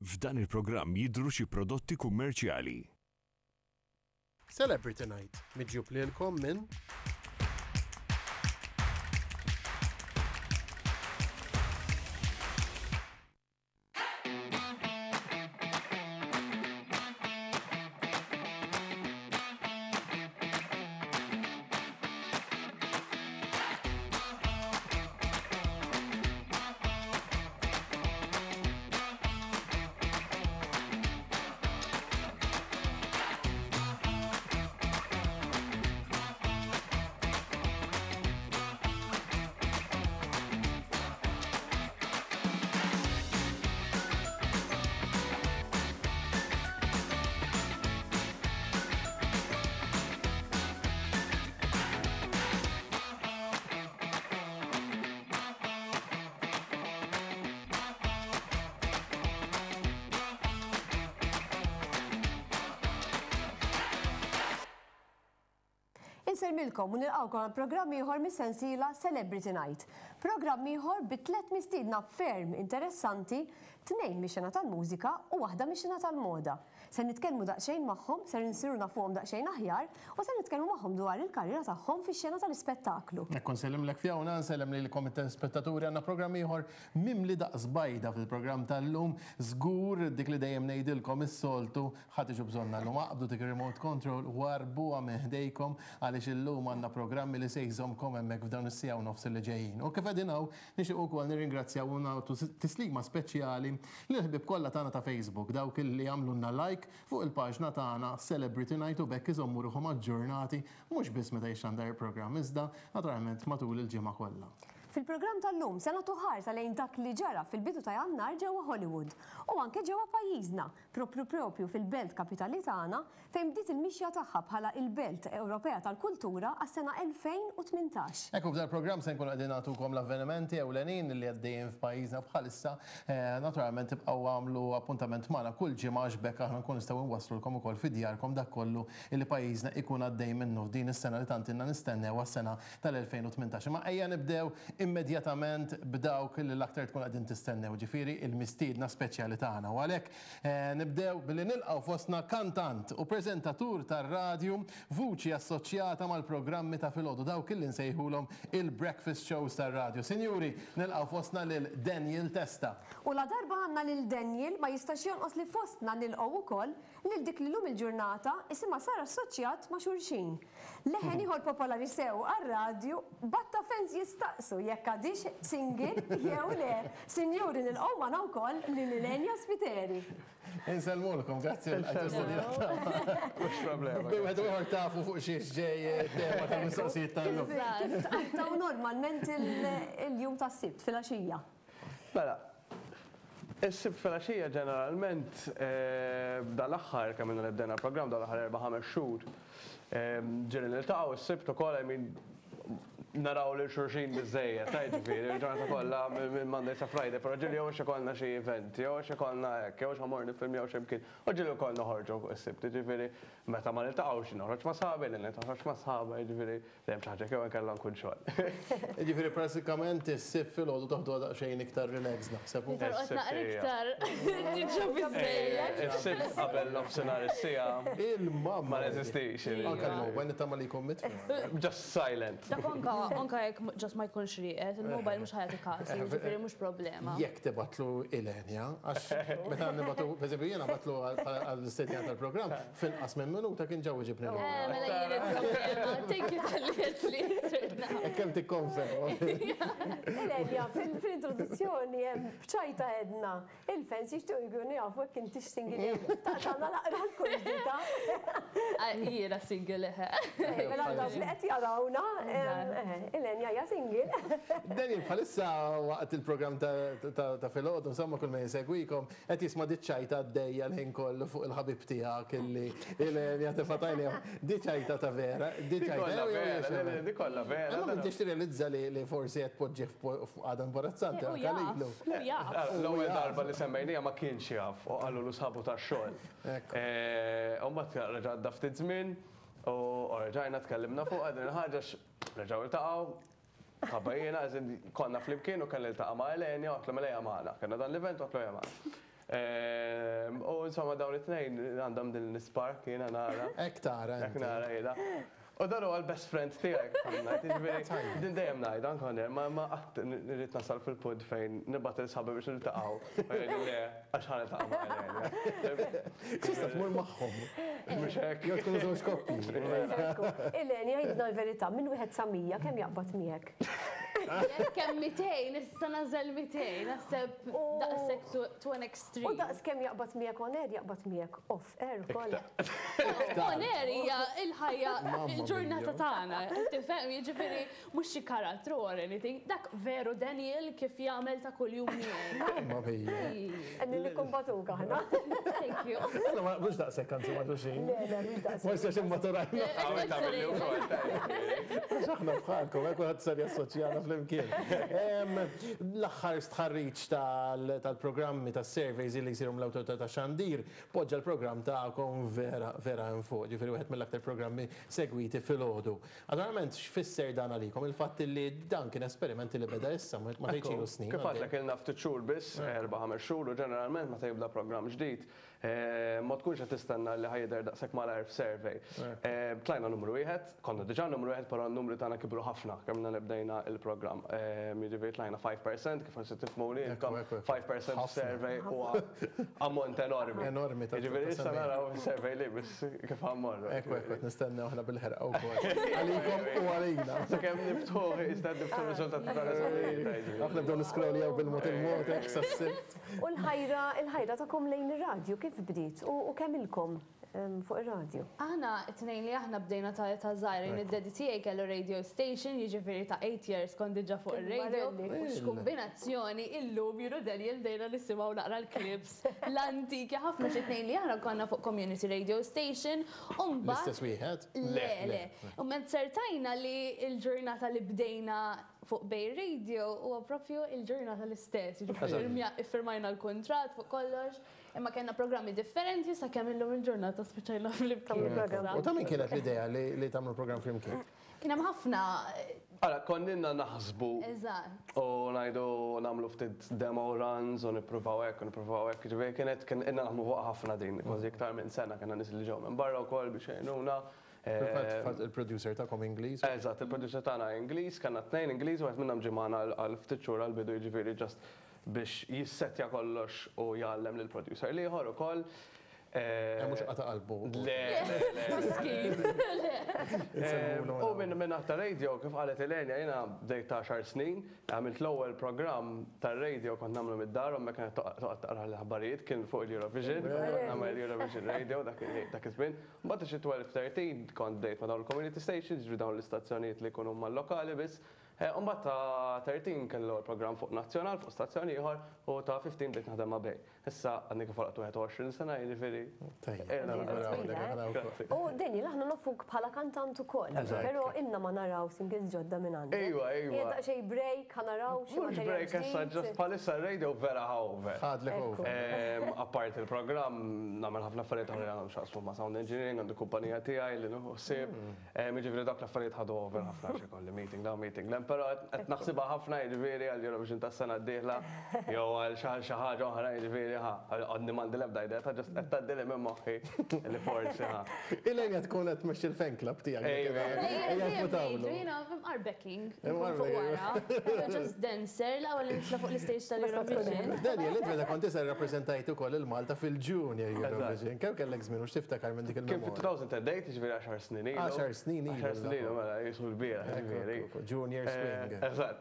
F'dan il-programm jidhru xi prodotti kummerċjali. Celebrity Night, miġjub lilkom minn. Insellmilkom u nilqgħukom għal programm ieħor mis-sensiela Celebrity Night. Programm ieħor bi tlett mistiedna ferm interessanti, tnejn mix-xena tal-mużika u waħda mix-xena tal-moda. Ser nitkellmu daqsxejn magħhom, ser insiru nafuhom daqsxejn aħjar u ser nitkellmu magħhom dwar il-karriera tagħhom fix-xena tal-ispettaklu. Hekk u nsellimlek Fiona, nsellem lilkom it-telespettaturi, għandna programm ieħor mimli daqs bajda fil-programm tal-lum. Żgur dik li dejjem ngħidilkom is-soltu, ħa tiġu bżonnha llum. Aqbdu dik ir-remote control, warrbuha minn ħdejkom għaliex illum għandna programmi li se jżommkom hemmhekk f'dawn is-siegħa u nofs li ġejjin. U kif qegħdin hawn, Nixtiequ wkoll nirringrazzjaw u nagħtu tislima speċjali lill-ħbieb kollha tagħna ta' Facebook, dawk li jagħmlulna like fuq il-paġna tagħna Celebrity Night u b'hekk iżommu ruħhom aġġornati mhux biss meta jixxandar il-programm iżda naturalment matul il-ġimgħa kollha. Fil-programm tal-lum se nagħtu ħarsa lejn dak li ġara fil-bidu ta' Jannar ġewwa Hollywood u anke ġewwa pajjiżna, proprju proprju fil-belt kapitali tagħna fejn bdiet il-mixja tagħha bħala il-Belt Ewropea tal-Kultura għas-sena 2018. Hekk u f'dal-programm se nkunu qegħdin nagħtukom l-avvenimenti ewlenin li għaddejjin f'pajjiżna bħalissa. Naturalment ibqgħu agħmlu appuntament magħna kull ġimgħa għax b'hekk aħna nkunu nistgħu nwasslulkom ukoll fi djarkom dak kollu li pajjiżna ikun għaddej minnu f'din is-sena li tant ilna nistennew għas-sena tal-2018. Imma ejja nibdew immedjatament b'dawk li l-aktar tkunu qegħdin tistennew, ġifieri l-mistiedna speċjali tagħna. U għalhekk Nibdew billi nilqgħu fostna kantant u preżentatur tar-radju, vuċi assoċjata mal-programmi ta' filgħodu, dawk illi nsejħulhom il-breakfast shows tar-radju. Sinjuri, nilqgħu fostna lil Daniel Testa. U ladarba għandna lil Daniel, ma jistax jonqos li fostna nilqgħu wkoll lil dik li llum il-ġurnata isimha sar assoċjat ma' xulxin. Leħen ieħor popolari sew għar-radju, b'għadd ta' fans jistaqsu jekk għadhiex single jew le. Sinjuri nilqgħu magħna wkoll lil Ilenia Spiteri. Insellmulkom, grazzi għall-istedina tagħna. Mhux problema. Bejn wieħed u ieħor tafu fuq xiex ġej it-tema tal-mistoqsijiet tal-lum. Kif tqattgħu normalment il-jum tas-Sibt filgħaxija? Mela, is-Sibt filgħaxija ġeneralment dal-aħħar kemm ilna li bdejna l-programm dal-aħħar erba' ħames xhur ġieli niltaqgħu s-Sibt ukoll I mean naraw lil xulxin biżżejjed, ta' jiġifieri l-ġurnata kollha minn Monday sa Friday, però ġieli jew għax ikollna xi event, jew għax ikollna hekk, jew għax ħa mmorru niffilmjaw xi mkien, u ġieli wkoll noħorġu s-Sibt, jiġifieri meta ma niltaqgħux noħroġ ma' sħabi, lil toħroġ ma' sħabha, jiġifieri Dejjem xi ħaġa jew inkella nkun xogħol. Jiġifieri prattikament is-Sibt filgħodu toħduha daqsxejn iktar relaxed naħseb. Li torqod naqra iktar. Diġà biżżejjed. Is-Sibt qabel nofsinhar is-siegħa. Il-mamma. Ma neżistix. Anke l-mobile nittama li jkun mitfi. Just silent. Dak anke anke jekk just ma jkunx rieqed, il-mobile mhux ħa jagħti każ, jiġifieri mhux problema. Jekk tibgħatlu Ilenia, għax meta nibgħatu, pereżempju jiena bagħtlu għall-istedina tal-programm, F'inqas minn minuta kien ġa weġibni lura. Eh, mela jien il-problema. Thank you talli għedtli. Hekk kemm tikkonferma. Elenia, fil-introduzzjoni hemm b'ċajta għedna, il-fans jixtiequ jkunu jafu jekk intix single jew le. Taqtagħna naqra l-kurżità. Jiena single eħe. Mela dawk li qed jarawna, Elenia hija single. Daniel, bħalissa waqt il-programm ta' filgħodu, insomma kull min isegwikom, Qed jisma' diċ-ċajta għaddejja l-ħin kollu fuq il-ħabib tiegħek illi Ilenia tefa' t'għajnejhom. Di ċajta ta' vera, di ċajta. Di kollha vera, le le, di kollha vera. Imma m'intix tirrealizza li forsi qed tpoġġih f'qagħda imbarazzanti anke lilu. Hu jaf. L-ewwel darba li semmejniha ma kienx jaf u qalulu sħabu tax-xogħol. U mbagħad reġa' għadda ftit żmien u reġajna tkellimna fuqha din il-ħaġa għax reġgħu ltaqgħu. Ħabba jiena, as in, konna flimkien u kelli niltaqa' ma' Elenia u għedtlu mela ejja magħna. Kellna dan l-event u għedtlu ejja magħna. U insomma dawn it-tnejn għandhom din l-spark jiena nara. Hekk tara. Hekk nara jiena. U dan huwa l-best friend tiegħek, jiġifieri din dejjem ngħid anke on air, ma qatt irrid nasal fil-punt fejn nibgħat lil sħabi biex niltaqgħu. U jgħidu le, għax ħa niltaqa' ma' Elenia. Tista' tmur magħhom. Mhux hekk. Jew tkunu żewġ koppji. Elenia, għidna l-verità, minn wieħed sa 100 kemm jaqbad miegħek? Jekk hemm 200, nista' nagħżel 200, naħseb daqshekk to an extreme. U daqs kemm jaqbad miegħek on air, jaqbad miegħek off air ukoll. On air hija il-ħajja, il-ġurnata tagħna. Tifhem, jiġifieri mhux xi karattru or anything. Dak veru Daniel kif jagħmel ta' kuljum miegħi. Mamma mia. Qegħdin nikkumbatuk aħna. Thank you. Alla ma naqblux daqshekk anzi ma' xulxin. Le, le, mhux daqshekk. Forsi għax immaturajna. Hawn tagħmel li wkoll. Għax aħna bħalkom, hekk kulħadd sar jassoċjana flimkien. L-aħħar stħarriġ tal-programmi tas-surveys li jsiru mill-Awtorità tax-Xandir poġġa l-programm tagħkom vera vera hemm fuq, ġifieri wieħed mill-aktar programmi segwiti filgħodu. Naturalment x'fisser dan għalikom? Il-fatt li dan kien esperiment li beda issa, ma tgħidx ilu snin. Kif għedtlek ilna ftit xhur biss, erba' ħames xhur u ġeneralment meta jibda programm ġdid, ma tkunx qed tistenna li ħa jidher daqshekk malajr f'survey. Tlajna numru wieħed, konna diġà numru wieħed però n-numri tagħna kibru ħafna kemm ilna li bdejna l-programm. Jiġifieri tlajna 5%, kif forsi tifhmuni intkom, 5% f'survey huwa ammont enormi. Enormi ta' Jiġifieri issa naraw is-survey li biss kif ħa mmorru. Ekku, ekku, qed nistennew aħna bil-ħerqa wkoll. Għalikom u għalina. Sakemm niftħuh, iżda niftħu r-riżultati tal-eżamijiet. Aħna nibdew niscrolljaw bil-mod il-mod hekk sas-Sibt. U l-ħajra, il-ħajra tagħkom lejn ir-radju kif bdiet u kemm ilkom fuq ir-radju? Aħna t-tnejn li aħna bdejna ta' età żgħira, jien id-daddy tiegħi kellu radio station, jiġifieri ta' 8 years kont diġà fuq ir-radio. U x'kumbinazzjoni illum jien u Daniel bdejna nisimgħu naqra l-clips l-antiki ħafna xi tnejn li aħna konna fuq community radio station u mbagħad. L-istess wieħed? Le, le. U mbagħad sertajna li l-ġurnata li bdejna fuq Bay Radio huwa propju il-ġurnata l-istess, jiġifieri iffirmajna l-kuntratt fuq kollox, imma kellna programmi differenti sakemm illum il-ġurnata spiċċajna flimkien. U ta' min kienet l-idea li tagħmlu programm flimkien? Kien hemm ħafna. Ara, konninna naħsbu. Eżatt. U ngħidu nagħmlu ftit demo runs u nippruvaw hekk u nippruvaw hekk, jiġifieri kienet kien ilna naħdmu fuqha ħafna din, kważi iktar minn sena kellna nies li ġew minn barra wkoll biex jgħinuna. Fil-fatt il-producer tagħkom Ingliż. Eżatt, il-producer tagħna Ingliż, kellna tnejn Ingliż, wieħed minnhom ġie magħna għal ftit xhur għall-bidu jiġifieri just biex jissettja kollox u jgħallem lill-producer l-ieħor ukoll. Mhux qata' qalbu. Le, le, le. Miskin. U minn minn ta' radio, kif qalet Elenia, jiena bdejt ta' għaxar snin, għamilt l-ewwel programm tar-radio kont nagħmlu mid-dar, ommi kienet toqgħod taqra l-aħbarijiet, kien fuq il-Eurovision, kont nagħmel Eurovision Radio dak iż-żmien. Mbagħad xi 12, 13 kont bdejt ma' dawn il-community stations, jiġifieri dawn l-istazzjonijiet li jkunu mal-lokali biss. U mbagħad ta' 13 kelli l-ewwel programm fuq nazzjonal, fuq stazzjon ieħor, u ta' 15 bdejt naħdem ma' Bay. Issa għadni kif għalaqt 21 sena, jiġifieri. Tajjeb. U Daniel, aħna nafuk bħala kantant ukoll, però ilna ma naraw singles ġodda minn għandek. Ejwa, ejwa. Hija daqsxejn break, ħa naraw xi Mhux materjal break issa, ġdid. just bħalissa r-radio vera ħa over. Ħadlek over. Apparti il-programm, nagħmel ħafna affarijiet oħra li għandhom x'jaqsmu ma' sound engineering, għandi kumpanija tiegħi li nieħu ħsieb. Jiġifieri dawk l-affarijiet ħadu over ħafna għax ikolli meeting 'l hawn meeting 'l hemm, però qed naħsibha ħafna jiġifieri għal Eurovision tas-sena d-dieħla jew għal xi ħaġa oħra jiġifieri ħa, għadni m'għandi l-ebda idea ta' just qed tgħaddili minn moħħi li forsi ħa. Ilenia tkun qed tmexxi l-fan club tiegħek. Ejwa. Ejja ngħidu jiena imqar backing, nkun fuq wara. Just dancer, l-ewwel li nitla' fuq l-istage tal-Eurovision. Daniel, int meta kont iżgħar irrappreżentajt ukoll lil Malta fil-Junior Eurovision. Kemm kellek żmien u x'tiftakar minn dik Kien il-memorja? fit-2008, jiġifieri għaxar snin ilu. Għaxar snin ilu. Għaxar snin ilu, mela, jisu l-bieraħ, jiġifieri. Junior Swing. Eżatt.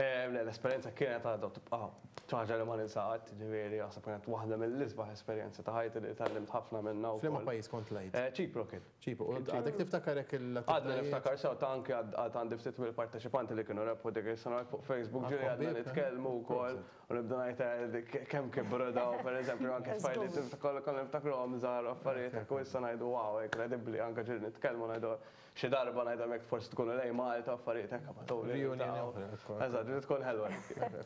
Le, l-esperjenza kienet għadha tibqa' xi ħaġa li ma ninsa qatt, jiġifieri naħseb kienet waħda mill-isbaħ esperjenzi ta' ħajti li tgħallimt ħafna minnha wkoll. F'liema pajjiż kont tlajt? Ċipru kien. Ċipru. U għadek tiftakar hekk l-attivitajiet? Għadna niftakar sew ta' anke għad għandi ftit mill-parteċipanti li kienu rebħu dik is-sena fuq Facebook ġieli għadna nitkellmu wkoll u nibda ngħid kemm kibru daw, pereżempju anke tfajliet konna niftakruhom żgħar u affarijiet hekk u issa ngħidu wow, inkredibbli anke ġieli nitkellmu ngħidu Xi darba ngħidhom jekk forsi tkunu lejn Malta affarijiet hekk ma tgħu. Reunion oħra. Eżatt, li tkun ħelwa.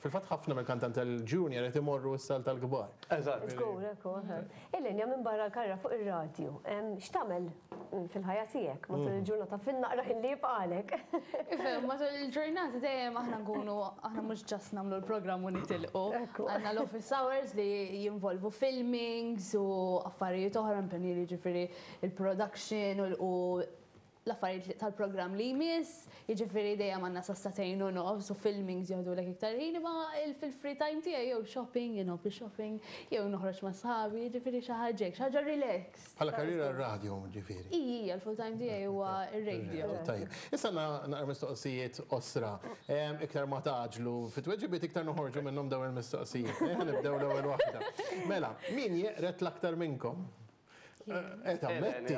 Fil-fatt ħafna mill-kantanti tal-junior qed imorru issa tal-kbar. Eżatt. Żgur, hekk hu. Elenja, minbarra l-karriera fuq ir-radju, x'tagħmel fil-ħajja tiegħek matul il-ġurnata fin-naqra ħin li jibqagħlek? Ifhem, matul il-ġurnata dejjem aħna nkunu aħna mhux ġast nagħmlu l-programm u nitilqu. Għandna l-office hours li jinvolvu filmings u affarijiet oħra, impenji li jiġifieri il-production u l-affarijiet tal-programm li jmiss, jiġifieri dejjem għandna sa sagħtejn u nofs u filmings joħdulek iktar ħin, imma fil-free time tiegħi jew shopping, jien nħobb shopping, jew noħroġ ma' sħabi, jiġifieri xi ħaġa hekk, xi ħaġa relaxed. Bħala karriera r-radio ġifieri. Ija, il-full time tiegħi huwa r-radio. Tajjeb. Issa naqra mistoqsijiet qosra. Iktar ma tgħaġġlu fit-tweġibiet iktar noħorġu minnhom dawn il-mistoqsijiet. Nibdew l-ewwel waħda. Mela, min jeqred l-aktar minnkom? Ammetti.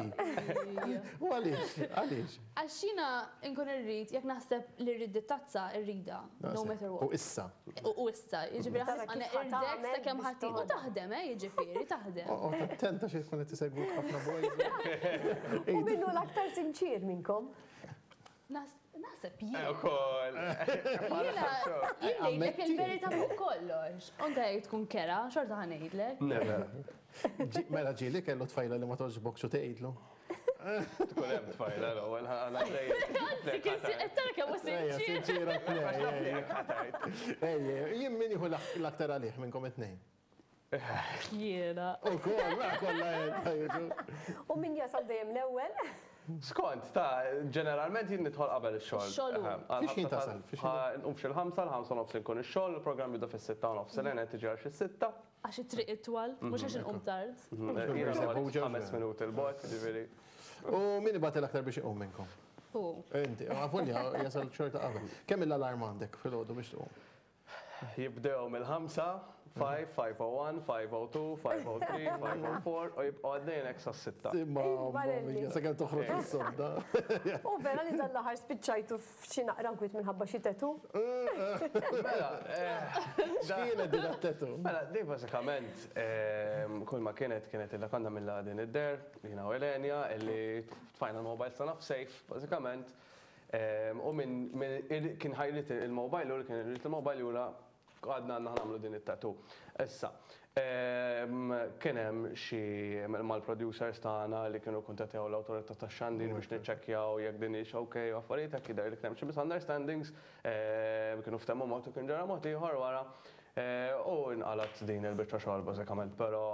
U għaliex, għaliex? Għax jiena nkun irrid, jekk naħseb li rrid tazza, irridha, no matter what. U issa. U issa, jiġifieri ħa irdek sakemm ħatti. U taħdem, jiġifieri, taħdem. U attenta xi tkun qed tisegwuk ħafna boys. U minnu l-aktar sinċir minnkom? Naħseb jien. Ukoll. Jiena, jien ngħidlek il-verità fuq kollox. Anke jekk tkun kerha, xorta ħa ngħidlek. Never. Mela ġieli kellu tfajla li ma togħġbokx u tgħidlu. Tkun hemm tfajla l-ewwel ħana Anzi, kien qed tara kemm hu Ejja, sinċir. sinċira tnej. Ejja, jien min jieħu l-aktar għalih minnkom it-tnejn. Jiena. U kol, mela kollha qed U min jasal dejjem l-ewwel? Skont, ta' ġeneralment jien nidħol qabel ix-xogħol. Ix-xogħol hu. Fiex ħin tasal? Fiex ħin- Nqum f'xi l-5, l-5:30 nkun ix-xogħol, il-programm jibda fis-6:30, Elena tiġi għal xi 6. Għax it-triq itwal, mhux għax inqum tard. Jiena Żebbuġa, noqgħod 5 minuti 'l bogħod, ġifieri. U min ibati l-aktar biex iqum minnkom? U. Inti, għavolja jasal xorta qabel. Kemm l-alarm għandek fil-għodu biex tqum? Jibdew mill-5, 5, 501, 502, 503, 504 u jibqgħu għaddejjin hekk sas-6. Imma, Marelli. sakemm toħroġ is-sodda. U vera li dan l-aħħar spiċċajtu f'xi naqra nkwiet minħabba xi tattoo? Mela, X'kienet din it-tattoo? Mela, di bażikament kull ma kienet kienet illa konna mill din id-der, jiena u Elenja, illi tfajna l-mobile tagħna f'safe, bażikament. U minn kien ħa jrid il-mobile u li kien irid il-mobile jura għadna għandna nagħmlu din it-tattoo. Issa, kien hemm xi mal-producers tagħna li kienu kuntattjaw l-awtorità tax-xandir biex niċċekkjaw jekk din hix okay u affarijiet hekk jidher li kien hemm xi misunderstandings, kienu ftehmu mod u kien ġara mod ieħor wara. U nqalat din il-biċċa xogħol bażikament, però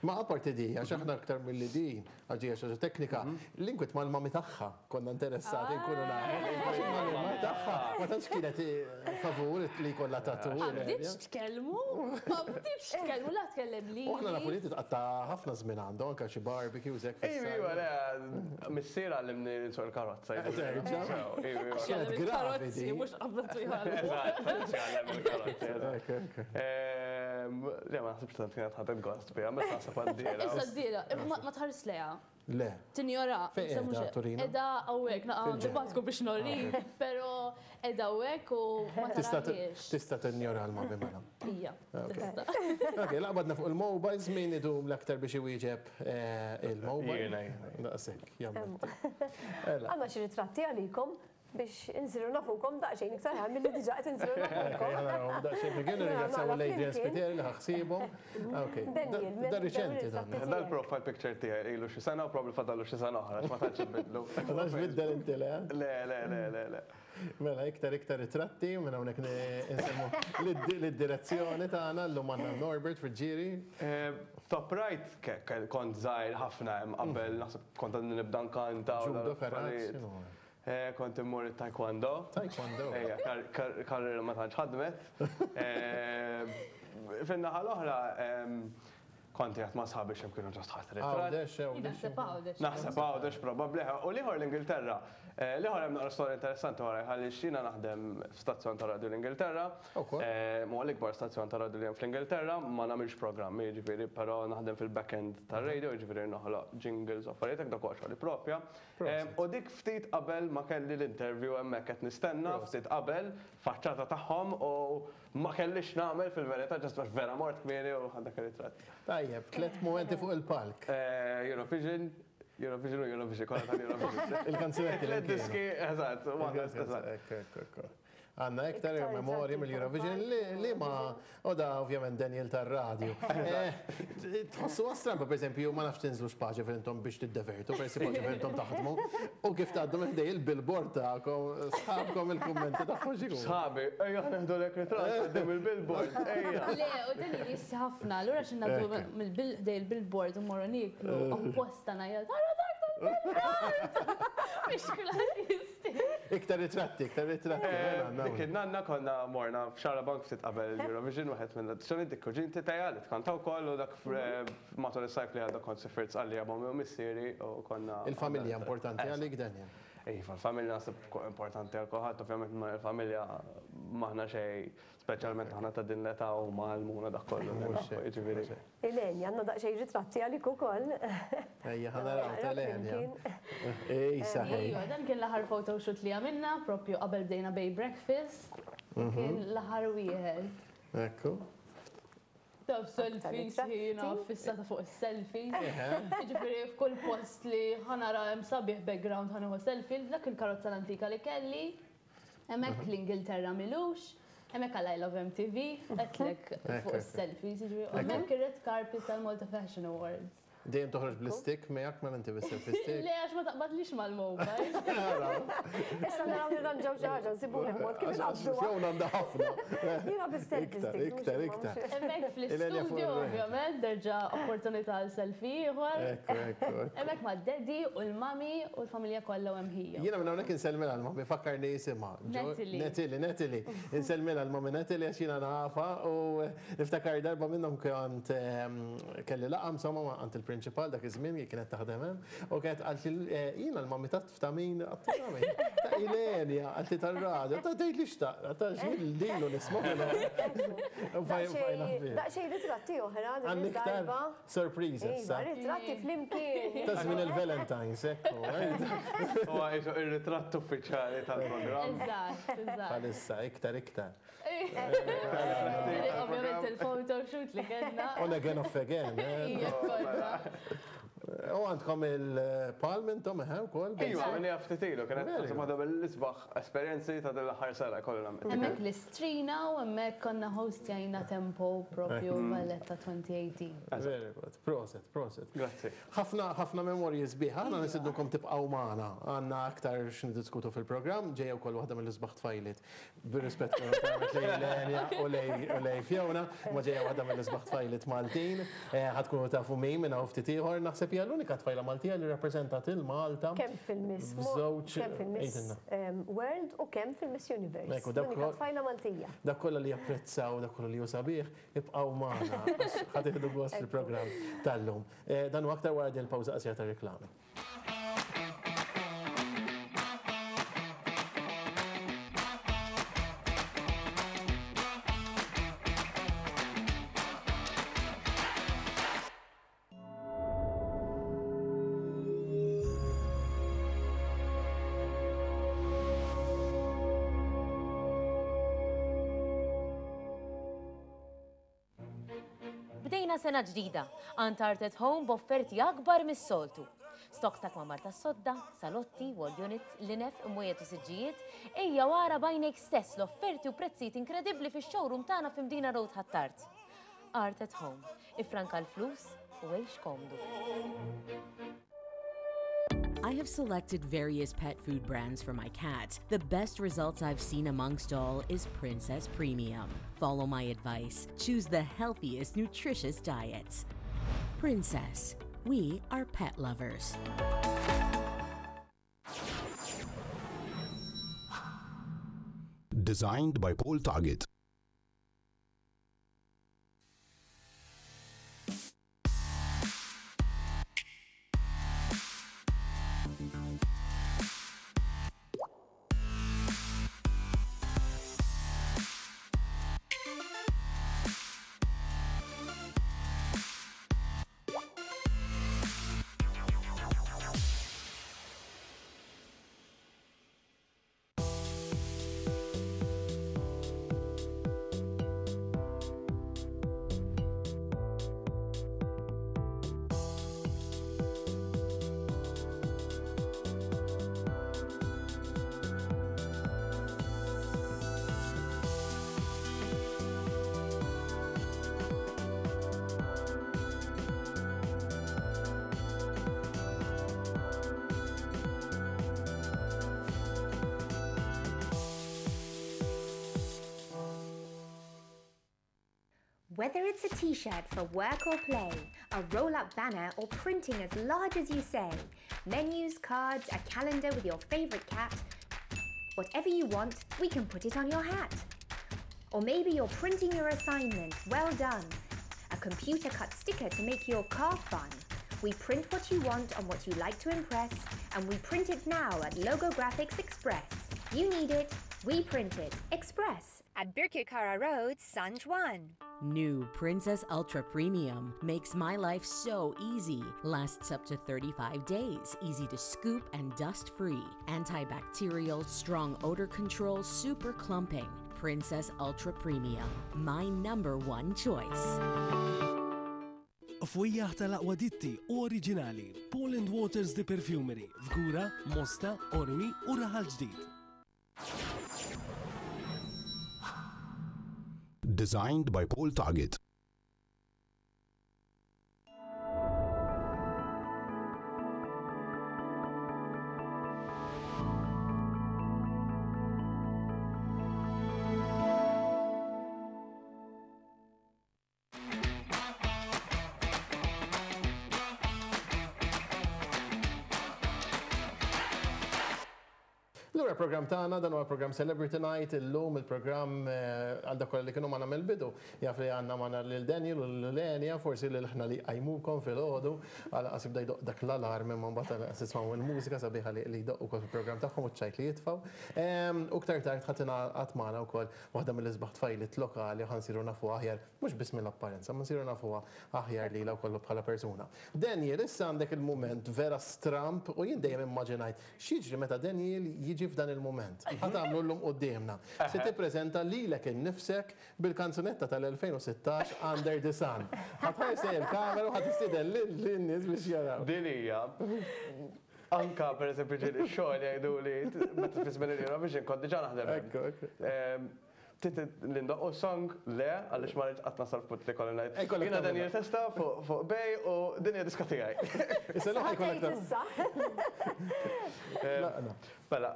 Ma apparti di, għax aħna aktar mill-li din, għax hija xi ħaġa teknika, l-inkwit mal-mami tagħha konna interessati nkunu nafu. Għax il-mami tagħha ma tantx kienet favur li jkollha tattoo. Ma bdietx tkellmu, ma bdietx tkellmu, la tkellem li. U aħna nafu li titqatta ħafna żmien għandu anke xi barbecues hekk Iva, iva, le, missier għallimni nsuq il-karozza. Terġa'? Iva, iva. Kienet gravi Karozzi, di. mhux qabdatu jħallu. Eżatt, għallem il-karozzi. eżatt. Ok. Le, ma naħsibx tant kienet ħadet gost biha, meta naħseb għad-dira. Issa d-dira, ma tħares leha. Le. Tinjora. Fejn issa qiegħda, Torino? Qiegħda hawnhekk, naqa' Fil-ġenb. nibatku biex nori, pero qiegħda hawnhekk u ma Tista' tarahiex. tista' tinjora l-mami mela. Ija, tista'. Ok, laqbadna fuq il-mobiles, min idum l-aktar biex iwieġeb il-mobile? Jiena, jiena. Daqshekk, jammetti. Ela. Għandna xi ritratti għalikom biex insiru nafukom daqsxejn iktar ħar milli diġà qed insiru nafukom. Daqsxejn fil-kien ringrazzjaw l-Adrian Spiteri li ħaxsibhom. Ok, Daniel, da riċenti dan. Da l-profile picture tiegħi ilu xi sena u probably fadallu xi sena oħra, ma tantx ibidlu. Ma tantx biddel inti le? Le, le, le, le, le. Mela, iktar iktar ritratti, minn hawnhekk nsemmu lid-direzzjoni tagħna llum għandna Norbert Friggieri. Top right, kont żgħir ħafna hemm qabel naħseb kont għadni nibda nkanta. u Judo, karate, dal-affarijiet. x'inhu? Kont immur it-taekwondo. Taekwondo. Ejja, karriera ma tantx ħadmet. Fin-naħa l-oħra, kont qiegħed ma' sħabi x'hemm kienu ġast ħadd ritratt. Għawdex, għawdex. Naħseb għawdex. Naħseb għawdex probabbli. U l-ieħor l-Ingilterra. L-ieħor hemm naqra storja interessanti wara għaliex jiena naħdem f'stazzjon ta' radio l-Ingilterra. Ukoll. Huwa l-ikbar stazzjon ta' radio li hemm fl-Ingilterra, ma nagħmilx programmi, jiġifieri, però naħdem fil-back-end tar-radio, jiġifieri noħloq jingles u affarijiet hekk dak huwa xogħli propja. U dik ftit qabel ma kelli l-interview hemmhekk qed nistenna, ftit qabel faċċata tagħhom u ma kellix nagħmel fil-verità ġast għax vera mort kmieni u ħadt dak ir-ritratt. Tajjeb, tlet momenti fuq il-palk. Eurovision, Eurovision u Eurovision, kollha tal-Eurovision. Il-kanzunetti li Tlet kienu. diski, eżatt, waħda, eżatt. Ekku, ekku, ekku. Għandna iktar memorji mill-Eurovision li ma u da ovvjament Daniel tar-radju. Tħossu stramba, per esempio, ma nafx tinżlux paġi intom biex tiddevertu, per esempio, paġi intom taħdmu, u kif tgħaddu minn ħdej il-billboard tagħkom, sħabkom il-kummenti tagħhom x'ikun. Sħabi, ejja neħdu lek ritratt quddiem il-billboard, ejja. Le, u Daniel jissi ħafna, allura xi ngħaddu mill-ħdej il-billboard u morru nieklu, apposta ngħajjat, ara dak tal-billboard! Biex kulħadd jisti. Iktar ritratti, iktar ritratti. Dik il-nanna konna morna f'Xarabank ftit qabel il-Eurovision, wieħed minn tradizzjoni dik kuġinti tajja li tkanta wkoll u dak matul is-sajf li għadda kont sifirt Sqallija ma' u missieri u konna. Il-familja importanti għalik, Daniel? Iva, il-familja naħseb importanti għal kulħadd, ovvjament ma il-familja m'aħna xejn, speċjalment aħna ta' din l-età u ma għallmuna dak kollu. Jiġifieri. Elenja, għandna daqsxejn ritratti għalik ukoll. Ejja, ħa naraw tal-Elenja. Ej, saħej. Ejja, dan kien l-aħħar photoshoot li għamilna, propju qabel bdejna Bay Breakfast. Kien l-aħħar wieħed. Ekku. Taf selfies, jiena fissata fuq is-selfies. Jiġifieri f'kull post li ħa nara hemm sabiħ background ħa nieħu selfie, dak il-karozza l-antika li kelli. Hemmhekk l-Ingilterra milux, hemmhekk għal I Love MTV, għedtlek fuq is-selfies, jiġifieri hemmhekk ir-red carpet tal-Malta Fashion Awards. Dejjem toħroġ bl-stick miegħek mela inti bis-selfie stick. Le, għax ma taqbadlix mal-mobile. Issa naraw nirranġaw xi ħaġa, nsibulek mod kif inqabduha. Fiona għandha ħafna. Jiena bis-selfie stick. Iktar, iktar. Hemmhekk fl-istudio ovvjament derġa' opportunità għal selfie ieħor. Ekku, ekku. Hemmhekk ma' daddy u l-mami u l-familja kollha u hemm ħija. Jiena minn hawnhekk insellmilha l-mami, fakkarni jisimha. Natalie. Natalie, Natalie. Insellmilha l-mami Natalie għax jiena nafa u niftakar darba minnhom kont kelli laqgħa insomma ma' għand il-prinċipal dak iż-żmien li kienet taħdem hemm u kienet qalt li jiena l-mami ta' ta' min ta' Ilenia, qaltli tar-radio, ta' tgħid li xtaq, ta' x'jien lilu nisma' Daqsxejn ritratti oħra din Għandna iktar id-darba. surprise issa. Iva, ritratti flimkien. Ta' żmien il-Valentine's, ekku. Huwa qisu ir-ritratt uffiċjali tal-programm. Eżatt, eżatt. Bħalissa, iktar, iktar. Ovvjament il-photoshoot li kellna. On again, off again. Ija, kollha. U għandkom il-palm intom, eħe, wkoll? Iva, minni ftit ilu, kienet Very naħseb waħda mill-isbaħ esperjenzi ta' din l-aħħar sena kollha nagħmel. Hemmhekk l-istrina u hemmhekk konna hostjajna Tempo propju Valletta 2018. Very good. Proset, proset. Grazzi. Ħafna, ħafna memorji sbieħ. Aħna nistednukom tibqgħu magħna. Għandna aktar x'niddiskutu fil-programm, ġejja wkoll waħda mill-isbaħ tfajliet. Bir-rispett lejn Lenja u lej Fiona, ma ġejja waħda mill-isbaħ tfajliet Maltin. Ħa tkunu tafu min minn hawn ftit ieħor, naħseb hija l-unika tfajla Maltija li rappreżentat il-Malta. Kemm fil-Miss F'żewġ kemm fil-Miss għidilna. World u kemm fil-Miss Universe. Ekku, dak L-unika tfajla Maltija. Dak kollha li japprezzaw, dak kollha li hu sabiħ, ibqgħu magħna għax ħa tieħdu gost fil-programm tal-lum. Dan hu aktar wara din il-pawża qasira ta' reklami. Bdejna sena ġdida, għand Art at Home b'offerti akbar mis-soltu. Stocks ta' kmamar ta' sodda, salotti, wall units, linef, imwejjed u siġġijiet, ejja wara b'għajnejk stess l-offerti u prezzijiet inkredibbli fix-showroom tagħna f'Mdina Road Ħ'Attard. Art at Home, ifranka l-flus u għix komdu. I have selected various pet food brands for my cat. The best results I've seen amongst all is Princess Premium. Follow my advice. Choose the healthiest, nutritious diets. Princess, we are pet lovers. Designed by Paul Target. Whether it's a t-shirt for work or play, a roll-up banner or printing as large as you say, menus, cards, a calendar with your favorite cat, whatever you want, we can put it on your hat. Or maybe you're printing your assignment, well done. A computer cut sticker to make your car fun. We print what you want on what you like to impress, and we print it now at Logographics Express. You need it, we print it. Express at Birkirkara Road, San Juan. New Princess Ultra Premium makes my life so easy. Lasts up to 35 days, easy to scoop and dust free. Antibacterial, strong odor control, super clumping. Princess Ultra Premium, my number one choice. Fwejjaħ tal-aqwa ditti u oriġinali, Paul and Waters The Perfumery, Fgura, Mosta, Qormi u Raħal Ġdid. Designed by Paul Target. Lura program tagħna dan huwa program Celebrity Night illum il-programm eh, għal dak kollha li kienu magħna mill-bidu. Jaf li għandna magħna lil Daniel u lil Lenia, forsi lil ħna li qajmukom filgħodu għal qas jibda jdoq dak l-alarm imma mbagħad għal tismgħu il-mużika sabiħa li jdoqqu wkoll fil-programm tagħhom u ċ-ċajt li jitfgħu. Ehm, u ktar tard ħadd ingħaqad magħna wkoll waħda mill-isbaħ tfajliet lokali ħa nsiru nafuha aħjar mhux biss mill-apparenza, ma nsiru nafuha aħjar lilha wkoll bħala persuna. Daniel, issa għandek il-mument vera stramp u jien dejjem immaġinajt x'jiġri meta Daniel jiġi f'dan il-mument. Ħa tagħmlu llum quddiemna. Se tippreżenta lilek innifsek bil-kanzunetta tal-2016 Under the Sun. Ħa tħares lejn il-kamera u ħa tistieden lin-nies biex jaraw. Din hija. Anka per eżempju ġieli x-xogħol jgħiduli meta fi żmien il-Eurovision kont diġà naħdem. Ekku, ekku. Trid li ndoqqu song? Le, għaliex ma rridx qatt nasal f'punt li jkolli ngħid. Jiena Daniel Testa fuq Bay u din hija diska tiegħi. Issa l ħajkollok issa. Mela,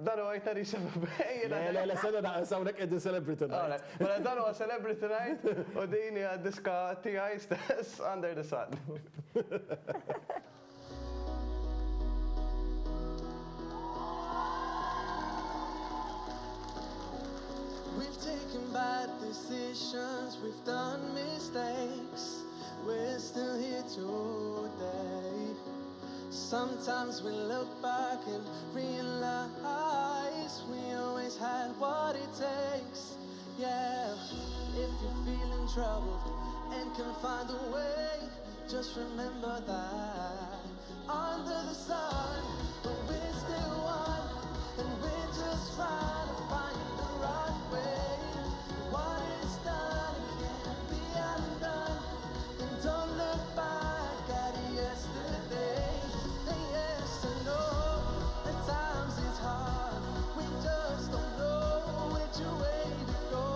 dan huwa jtari Bay. Le, le, le, sena naqas hawnhekk qegħdin Celebrity Night. Mela dan huwa Celebrity Night u din hija diska tiegħi stess Under the Sun. We've taken bad decisions, we've done mistakes. We're still here today. Sometimes we look back and realize we always had what it takes. Yeah, if you're feeling troubled and can find a way, just remember that under the sun, but we're still one, and we're just trying to find the right way. What is done can't be undone, and don't look back at yesterday. And yes, I know at times it's hard. We just don't know which way to go.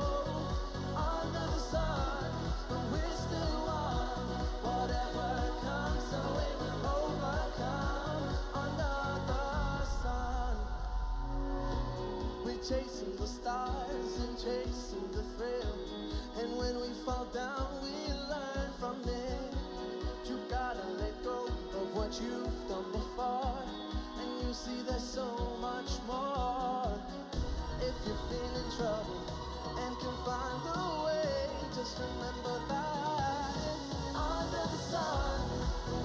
Under the sun, but we're still one. Whatever comes our way, we'll overcome. Under the sun. We're chasing the stars and chasing the thrill. And when we fall down, we learn from it. You gotta let go of what you've done before. And you see there's so much more. If you're feeling troubled and can find the way, just remember that under the sun,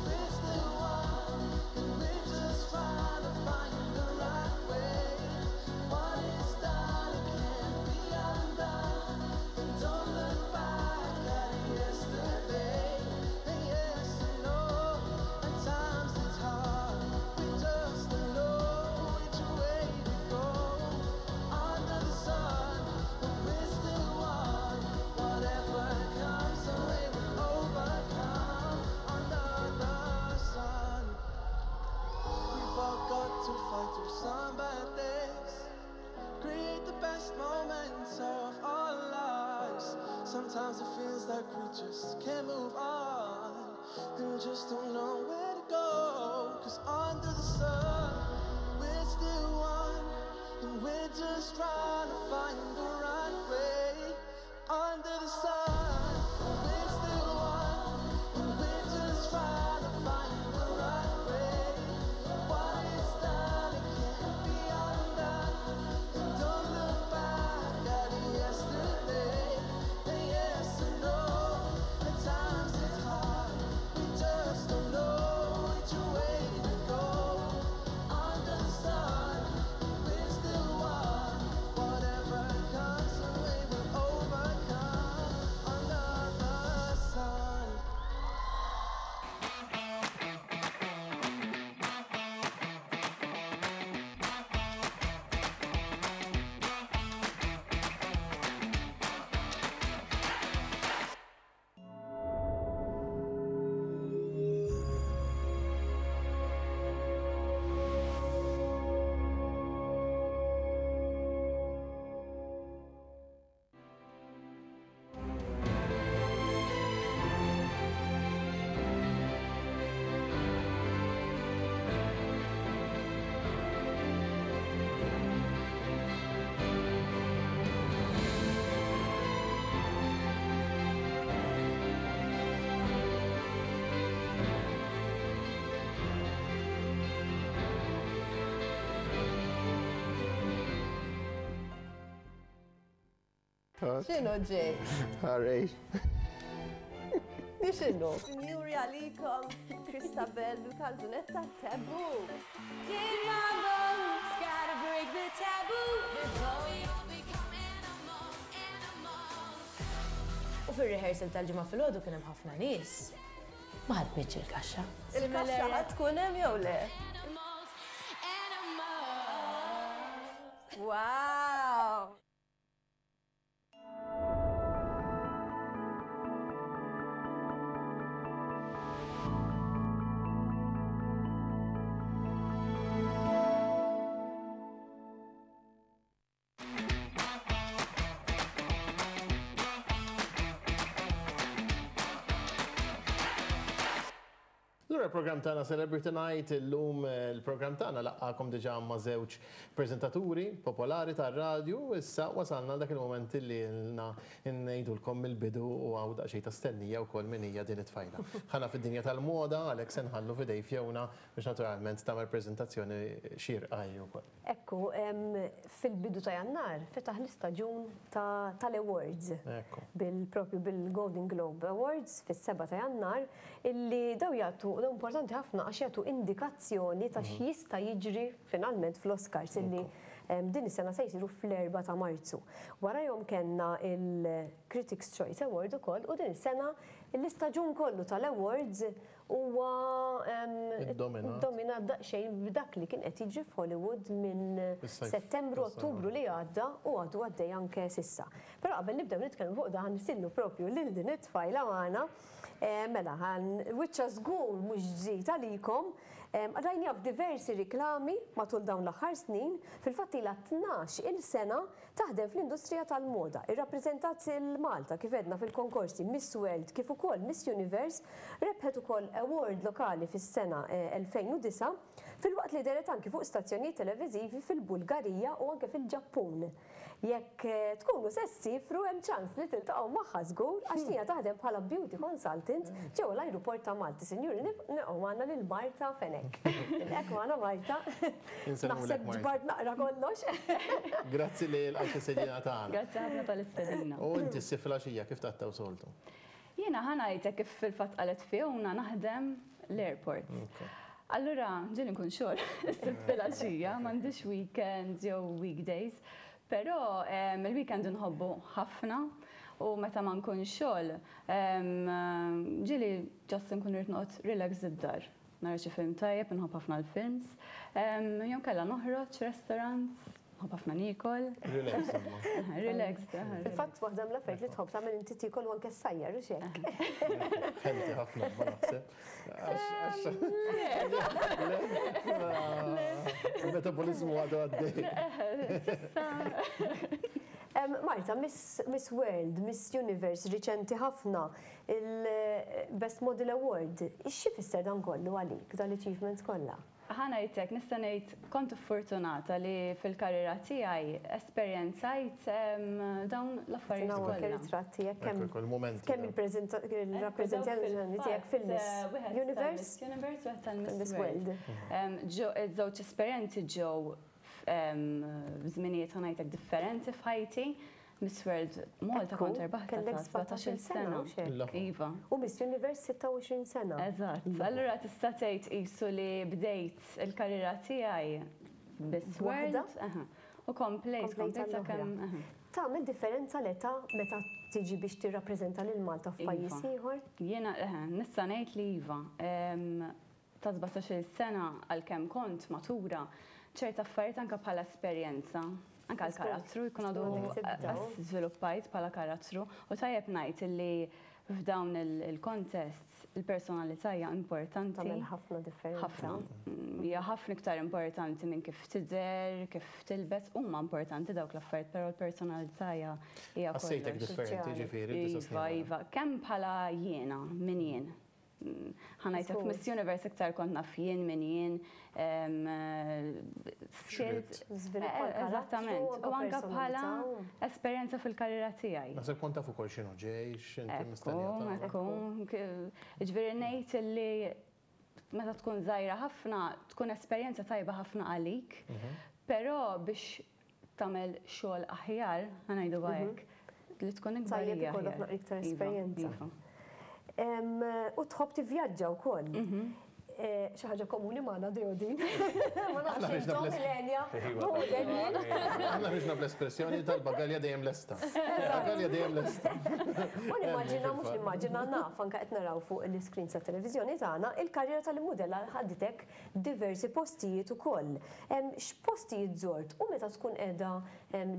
we're still one, and we're just trying to find the right way. What is done, it can't be undone. And don't look back at yesterday. And yes, I know at times it's hard. We just don't know which way to go. Under the sun, but we're still one. Whatever comes our way, we'll overcome. Under the sun. We've all got to fight through some bad days. Create the best moments of our lives. Sometimes it feels like we just can't move on and just don't know where to go. Cause under the sun, we're still one, and we're just trying to find the right way. Under the sun, X'inhu ġej? Ħarej. Di x'inhu? Sinjuri għalikom, Christabel bil-kanzunetta Taboo. U fir-rehearsal tal-Ġimgħa filgħodu kien hemm ħafna nies. Ma ħadmitx il-kaxxa. Il-kaxxa ħa tkun hemm jew le? Wow! Lura l-programm tagħna Celebrity Night illum il-programm tagħna laqqakom diġà ma' żewġ preżentaturi popolari tar-radju issa wasalna għal dak il-mument li ilna ngħidulkom mill-bidu u hawn daqsxejn ta' stennija wkoll min hija din it-tfajla. Ħana fid-dinja tal-moda għalhekk se nħallu f'idej Fiona biex naturalment tagħmel preżentazzjoni xierqa hi wkoll. Ekku, fil-bidu ta' Jannar fetaħ l-istaġun tal-awards. Bil-propju bil-Golden Globe Awards fis-7 ta' Jannar illi daw jagħtu, daw importanti ħafna għax jagħtu indikazzjoni ta' x'jista' jiġri finalment fl-Oscars illi din is-sena se jsiru fl-4 ta' Marzu. Warajhom kellna il-Critics' Choice Award ukoll u din is-sena l-istaġun kollu tal-awards huwa ddominat daqsxejn b'dak li kien qed jiġri f'Hollywood minn Settembru, Ottubru li għadda u għadu għaddej anke s'issa. Però qabel nibdew nitkellmu fuq dan nistiednu propju lil din it-tfajla magħna. Mela, wiċċha żgur mhux ġdid għalikom. Rajniha f'diversi riklami matul dawn l-aħħar snin, fil-fatt ilha 12-il sena Taħdem fl-industrija tal-moda. Irrappreżentat lil Malta kif għedna fil-konkorsi Miss World kif ukoll Miss Universe, rebħet ukoll award lokali fis-sena 2009, filwaqt li dehret anki fuq stazzjonijiet televiżivi fil-Bulgarija u anke fil-Ġappun. Jekk tkunu se ssiefru hemm ċans li tiltaqgħu magħha żgur għax hija taħdem bħala beauty consultant ġewwa l-ajruport ta' Malta. Sinjuri nilqgħu magħna lil Marta Fenech. Nilqgħek magħna Marta. Naħseb ġbart naqra kollox. Grazzi li lqajt l-istedina tagħna. Grazzi ħafna tal-istedina. U inti ssir filgħaxija kif tqattgħu soltu? Jiena ħa ngħidlek kif fil-fatt qalet Fiona naħdem l-airport. Allura ġieli nkun xogħol is-Sibt filgħaxija, m'għandix weekends jew weekdays, però il-weekend inħobbu ħafna u meta ma nkunx xogħol ġieli just inkun irrid noqgħod relaxed id-dar. Nara xi film tajjeb, inħobb ħafna l-films. Jew kella noħroġ restaurants, nħobb ħafna niekol. Relax. Relax. Fil-fatt waħda mill-affarijiet li tħobb tagħmel inti tiekol u anke ssajjar u x'hekk. Healthy ħafna ma naħseb. Il-metabolizmu għadu għaddej. Marta, Miss World, Miss Universe, riċenti ħafna, Il-Best Model Award, x'ifisser dan kollu għalik, dan l-achievements kollha? Ħa ngħidlek, nista' ngħid kont iffortunata li fil-karriera tiegħi esperjenzajt dawn l-affarijiet kollha. Anke ritratt tiegħek kemm kemm il-rappreżentazzjoni tiegħek fil-Miss Universe. Miss Universe u tal-Miss World. Iż-żewġ esperjenzi ġew f'żminijiet ħa ngħidlek differenti f'ħajti. Miss World Malta kont erbaħtha ta' 17-il sena. Iva. U Miss Universe 26 sena. Eżatt. Allura tista' tgħid qisu li bdejt il-karriera tiegħi Miss World. U komplejt, komplejt sakemm. Tagħmel differenza l-età meta tiġi biex tirrappreżenta lil Malta f'pajjiż ieħor? Jiena nista' ngħid li iva. Ta' 17-il sena għalkemm kont matura, ċerta affarijiet anke bħala esperjenza, anke għall-karattru jkun għadu żviluppajt bħala karattru u tajjeb ngħid illi f'dawn il-contests il-personalità hija importanti. Tagħmel ħafna differenza. Ħafna. Hija ħafna iktar importanti minn kif tidher, kif tilbes, huma importanti dawk l-affarijiet, però l-personalità hija kollox. Ħassejtek differenti ġifieri? Iva, iva. Kemm bħala jiena, min jien. Ħa ngħidlek Miss Universe iktar kont naf jien min jien, skills. Eżattament. U anke bħala esperjenza fil-karriera tiegħi. Naħseb kont taf ukoll x'inhu ġej, x'inti mistennija. Ekku, ekku. Jiġifieri ngħid li meta tkun żgħira ħafna tkun esperjenza tajba ħafna għalik, però biex tagħmel xogħol aħjar, ħa ngħidu hekk. Li tkun ikbar. Tajjeb ikollok naqra iktar Iva, esperjenza. iva. U tħobb tivvjaġġa wkoll. Xi ħaġa komuni magħna Deodin. Ma nafx intom Ilenia. U Daniel. Aħna ħriġna bl-espressjoni tal-bagalja dejjem lesta. Bagalja dejjem lesta. U nimmaġina mhux nimmaġina naf anke qed naraw fuq l-iscreen ta' televiżjoni tagħna il-karriera tal-mudella ħaditek diversi postijiet ukoll. X'postijiet żort u meta tkun qiegħda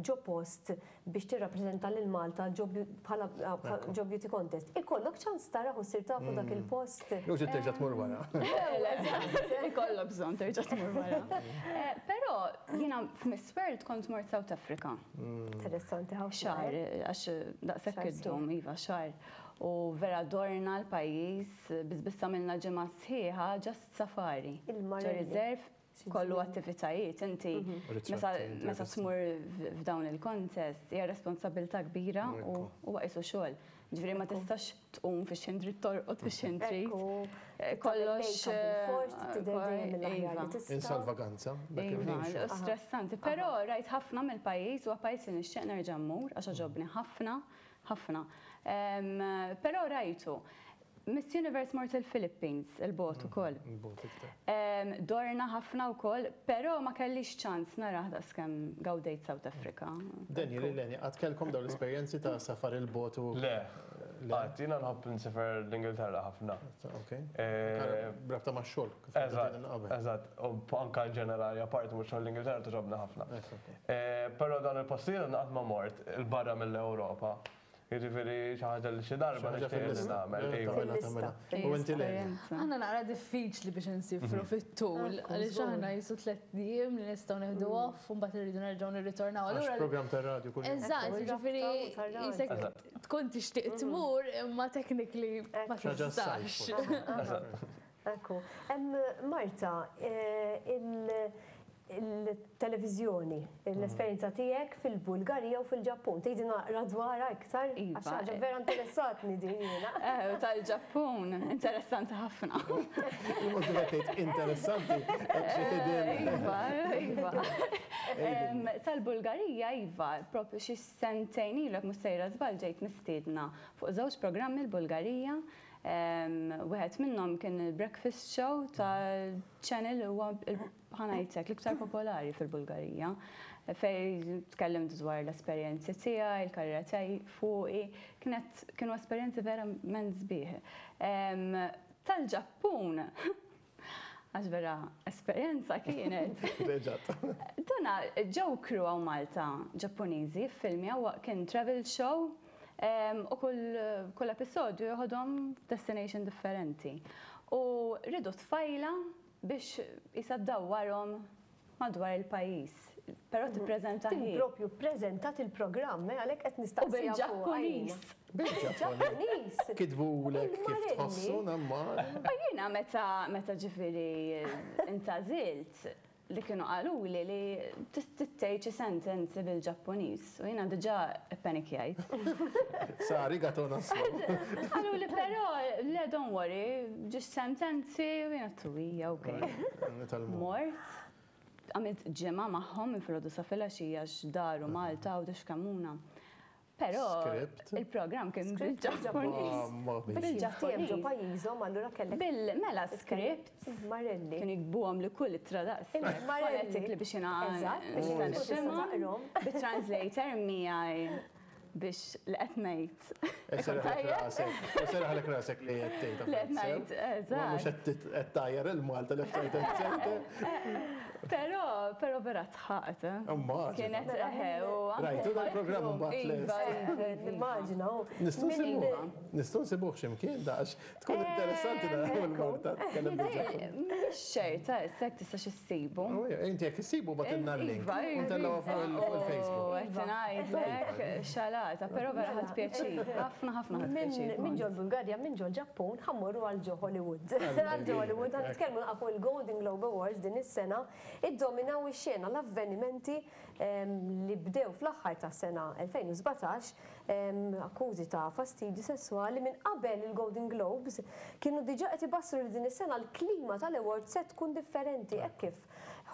ġo post biex tirrappreżenta lil Malta ġo bħala ġo beauty contest, ikollok ċans taraħ u ssir tafu dak il-post? Jew trid terġa' tmur wara. Ikollok bżonn terġa' tmur wara. Però jiena f'Miss World kont mort South Africa. Interessanti ħafna. Xahar, għax daqshekk iddum, iva, xahar. U vera dorna l-pajjiż, biss biss għamilna ġimgħa sħiħa just safari. Il-Marelli. Ġo reserve, kollu attivitajiet, inti meta tmur f'dawn il-contest hija responsabilità kbira u huwa qisu xogħol. Ġifieri ma tistax tqum fix-xejn trid torqod fix-xejn trid. Kollox. Insalvaganza. Iva, stressanti. Però rajt ħafna mill-pajjiż u pajjiż li nixtieq nerġa' mmur għax għoġobni ħafna, ħafna. Però rajtu. Miss Universe mort il-Philippines, il-bot ukoll. Dorna ħafna wkoll, però ma kellix ċans narah daqskemm gawdejt South Africa. Daniel, Ilenia, qatt kellkom dawn l-esperjenzi ta' safar il-bot u. Le, qatt. Jiena nħobb nsifer l-Ingilterra ħafna. Ok. B'rabta max-xogħol, kif Eżatt, eżatt. U anke in ġenerali, apparti mhux xogħol l-Ingilterra togħġobni ħafna. Però dawn il-postijiet qatt ma mort 'il barra mill-Ewropa. Jiġifieri xi ħaġa li xi darba nixtieq li nagħmel. Tagħmilha, tagħmilha. U inti Leni? Aħna naqra diffiċli biex insifru fit-tul, għaliex aħna qisu tlett ijiem li nistgħu nieħdu off u mbagħad irridu nerġgħu nirritornaw. Għax programm tar-radju kuljum. Eżatt, jiġifieri qisek tkun tixtieq tmur imma technically ma tistax. Ekku. Marta, il-televiżjoni, l-esperjenza tiegħek fil-Bulgarija u fil-Ġappun. Tgħidi naqra dwarha iktar? Iva. Għax ħaġa vera interessatni din jiena. Tal-Ġappun, interessanti ħafna. Il-mod kif qed tgħid interessanti, qed xi ħidien. Iva, iva. Tal-Bulgarija, iva, propju xi sentejn ilu jekk mhux sejra żball ġejt mistiedna fuq żewġ programmi l-Bulgarija. Wieħed minnhom kien il-breakfast show tal-channel huwa ħa ngħidlek l-iktar popolari fil-Bulgarija fej tkellimt dwar l-esperjenzi tiegħi, il-karriera tiegħi fuqi, kienet kienu esperjenzi verament sbieħ. Tal-Ġappun, għax vera esperjenza kienet. Reġat. Dana ġew crew hawn Malta Ġappuniżi ffilmjaw kien travel show u kull episodju joħodhom destination differenti. U ridu tfajla biex jisa ddawwarhom madwar il-pajjiż. Però tippreżenta Din hi. propju ppreżentat il-programm, għalhekk qed U nistaqsiha fuq bil-Ġappuniż. Bil-Ġappuniż. Kitbulek kif Il-Marelli. tħossu namma. U jiena meta ġifieri intażilt li kienu qaluli li tgħid xi sentenzi bil-Ġappuniż u jiena diġà ppanikjajt. Sa arigato nasu. Qaluli però le don't worry, ġiġ sentenzi u jiena tuwija, ok. Mort, għamilt ġimgħa magħhom minn filgħodu sa filgħaxija x'daru Malta u Kamuna. Però Script. il-programm kien bil-Ġappuniż. Mamma mia. Bil-Ġappuniż. Ġo Bil-Ġappuniż. pajjiżhom allura kellek Bil-mela script Marelli. kienu jiktbuhom li kull ittra daqs. Il-Marelli. Phonetically biex jiena Eżatt, biex nista' tkun tista' nifhimhom. taqrahom. Bit-translator miegħi biex li qed ngħid. Serraħlek rasek. Serraħlek rasek li qed tgħid. Li qed ngħid, eżatt. Mhux qed tajjar il-Malta left right and center. Però, però vera tħaqt. Immaġina. Kienet eħe u anke Rajtu dal-programm mbagħad Iva, lest. iva, iva. Nimmaġina. u Nistgħu nsibuh. Nistgħu nsibuh x'imkien dax. Tkun interessanti naraw il-Malta tkellem bil-Ġappun. Mhix ċerta, issa jekk tistax issibu. Oh, Inti jekk issibu bagħtilna l-link. Iva, iva. U ntellgħuha fuq il-Facebook. U qed ngħidlek xalata, però vera ħadt pjaċir. Ħafna ħafna ħadt pjaċir. Minn ġol Bulgarja, minn ġol Ġappun, ħa mmorru għal ġo Hollywood. Għal ġo Hollywood, ħa nitkellmu naqra fuq il-Golden Globe Awards din is-sena, iddominaw ix-xena l-avvenimenti li bdew fl-aħħar tas-sena 2017, akkużi ta' fastidju sesswali minn qabel il-Golden Globes kienu diġà qed ibassru li din is-sena l-klima tal-awards se tkun differenti hekk kif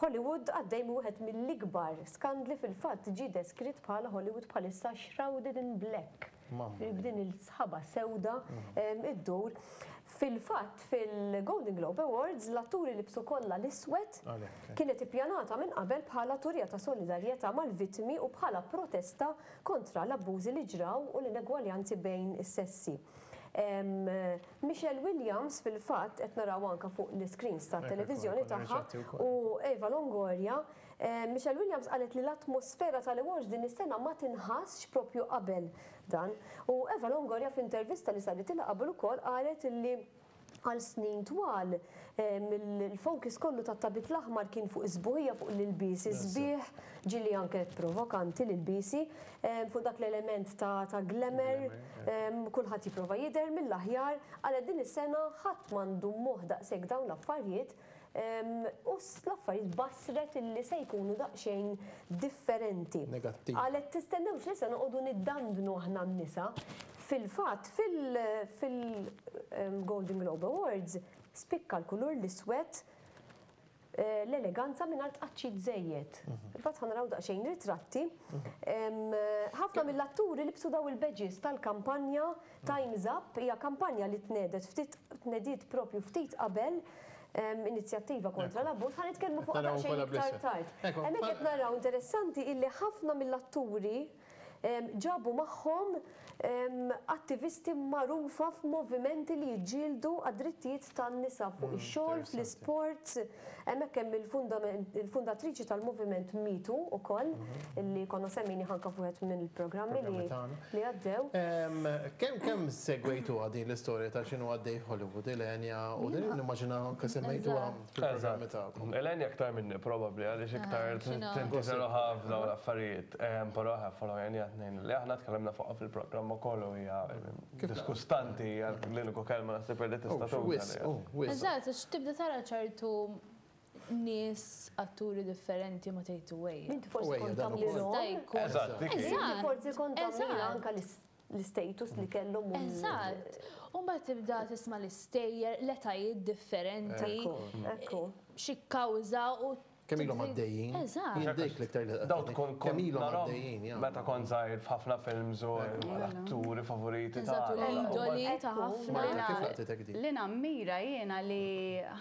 Hollywood għaddej minn wieħed mill-ikbar skandli fil-fatt ġie deskritt bħala Hollywood bħalissa shrouded in black. B'din il-sħaba sewda iddur. Fil-fatt fil-Golden Globe Awards l-atturi libsu kollha l-iswed kienet ippjanata minn qabel bħala turija ta' solidarjetà mal-vittmi u bħala protesta kontra l-abbużi li ġraw u l-inegwaljanzi bejn is-sessi. Michelle Williams fil-fatt qed naraw anke fuq l-iscreens tat-televiżjoni tagħha u Eva Longoria, Michelle Williams qalet li l-atmosfera tal-awards din is-sena ma tinħassx propju qabel dan. U Eva Longoria f'intervista li saritilha qabel ukoll qalet li għal snin twal il-focus kollu tat-tabit l-aħmar kien fuq is-sbuħija, fuq l-ilbiesi sbieħ, ġieli anke provokanti l-ilbiesi, fuq dak l-element ta' glamour, kulħadd jipprova jidher mill-aħjar, qalet din is-sena ħadd m'għandu moħħ daqshekk dawn l-affarijiet u l-affarijiet bassret illi se jkunu daqsxejn differenti. Qalet tistennewx li se noqogħdu niddandnu aħna n-nisa. Fil-fatt, fil-Golden Globe Awards spikka l-kulur l-iswed l-eleganza mingħajr tqaċċit żejjed. Fil-fatt ħa naraw daqsxejn ritratti. Ħafna mill-atturi libsu daw il-badges tal-kampanja Time's Up, hija kampanja li tnedet ftit tnediet propju ftit qabel inizjattiva kontra l-abbuż, ħa nitkellmu fuqha daqsxejn iktar tard. Hemmhekk qed naraw interessanti illi ħafna mill-atturi ġabu magħhom attivisti magħrufa f'movimenti li jiġġieldu għad-drittijiet tan-nisa fuq ix-xogħol, fl-isports. Hemmhekk hemm il-fundatriċi tal-moviment Me Too ukoll, li konna semmejnih anke f'wieħed mill-programmi li għaddew. Kemm kemm segwejtuha din l-istorja ta' x'inhu għaddej f'Hollywood, Ilenia, u din nimmaġina anke semmejtuha fil-programmi tagħkom. Ilenia aktar minni probabbli għaliex iktar tinteressa ruħha f'dawn l-affarijiet. Però eħe followjajniha t-tnejn li aħna tkellimna fuqha fil-programm ukoll u hija diskustanti hija l-uniku kelma naħseb li tista' tuża. Eżatt, għax tibda tara ċertu nies atturi differenti ma tgħid ejja. Inti forsi kont tagħmlilhom. Eżatt, dik hi. Inti forsi kont tagħmlilha anke l-istatus li kellhom. Eżatt. U mbagħad tibda tisma' l-istejjer, l-etajiet differenti. Ekku. Xi kkawża u Kemm ilhom għaddejjin? Eżatt. Jien dik l-iktar li Daw tkun kemm ilhom għaddejjin, ja. Meta kont żgħir f'ħafna films u l-atturi favoriti ta' Eżatt, u l-idoli ta' ħafna. Marta, kif laqtitek din? Li nammira jiena li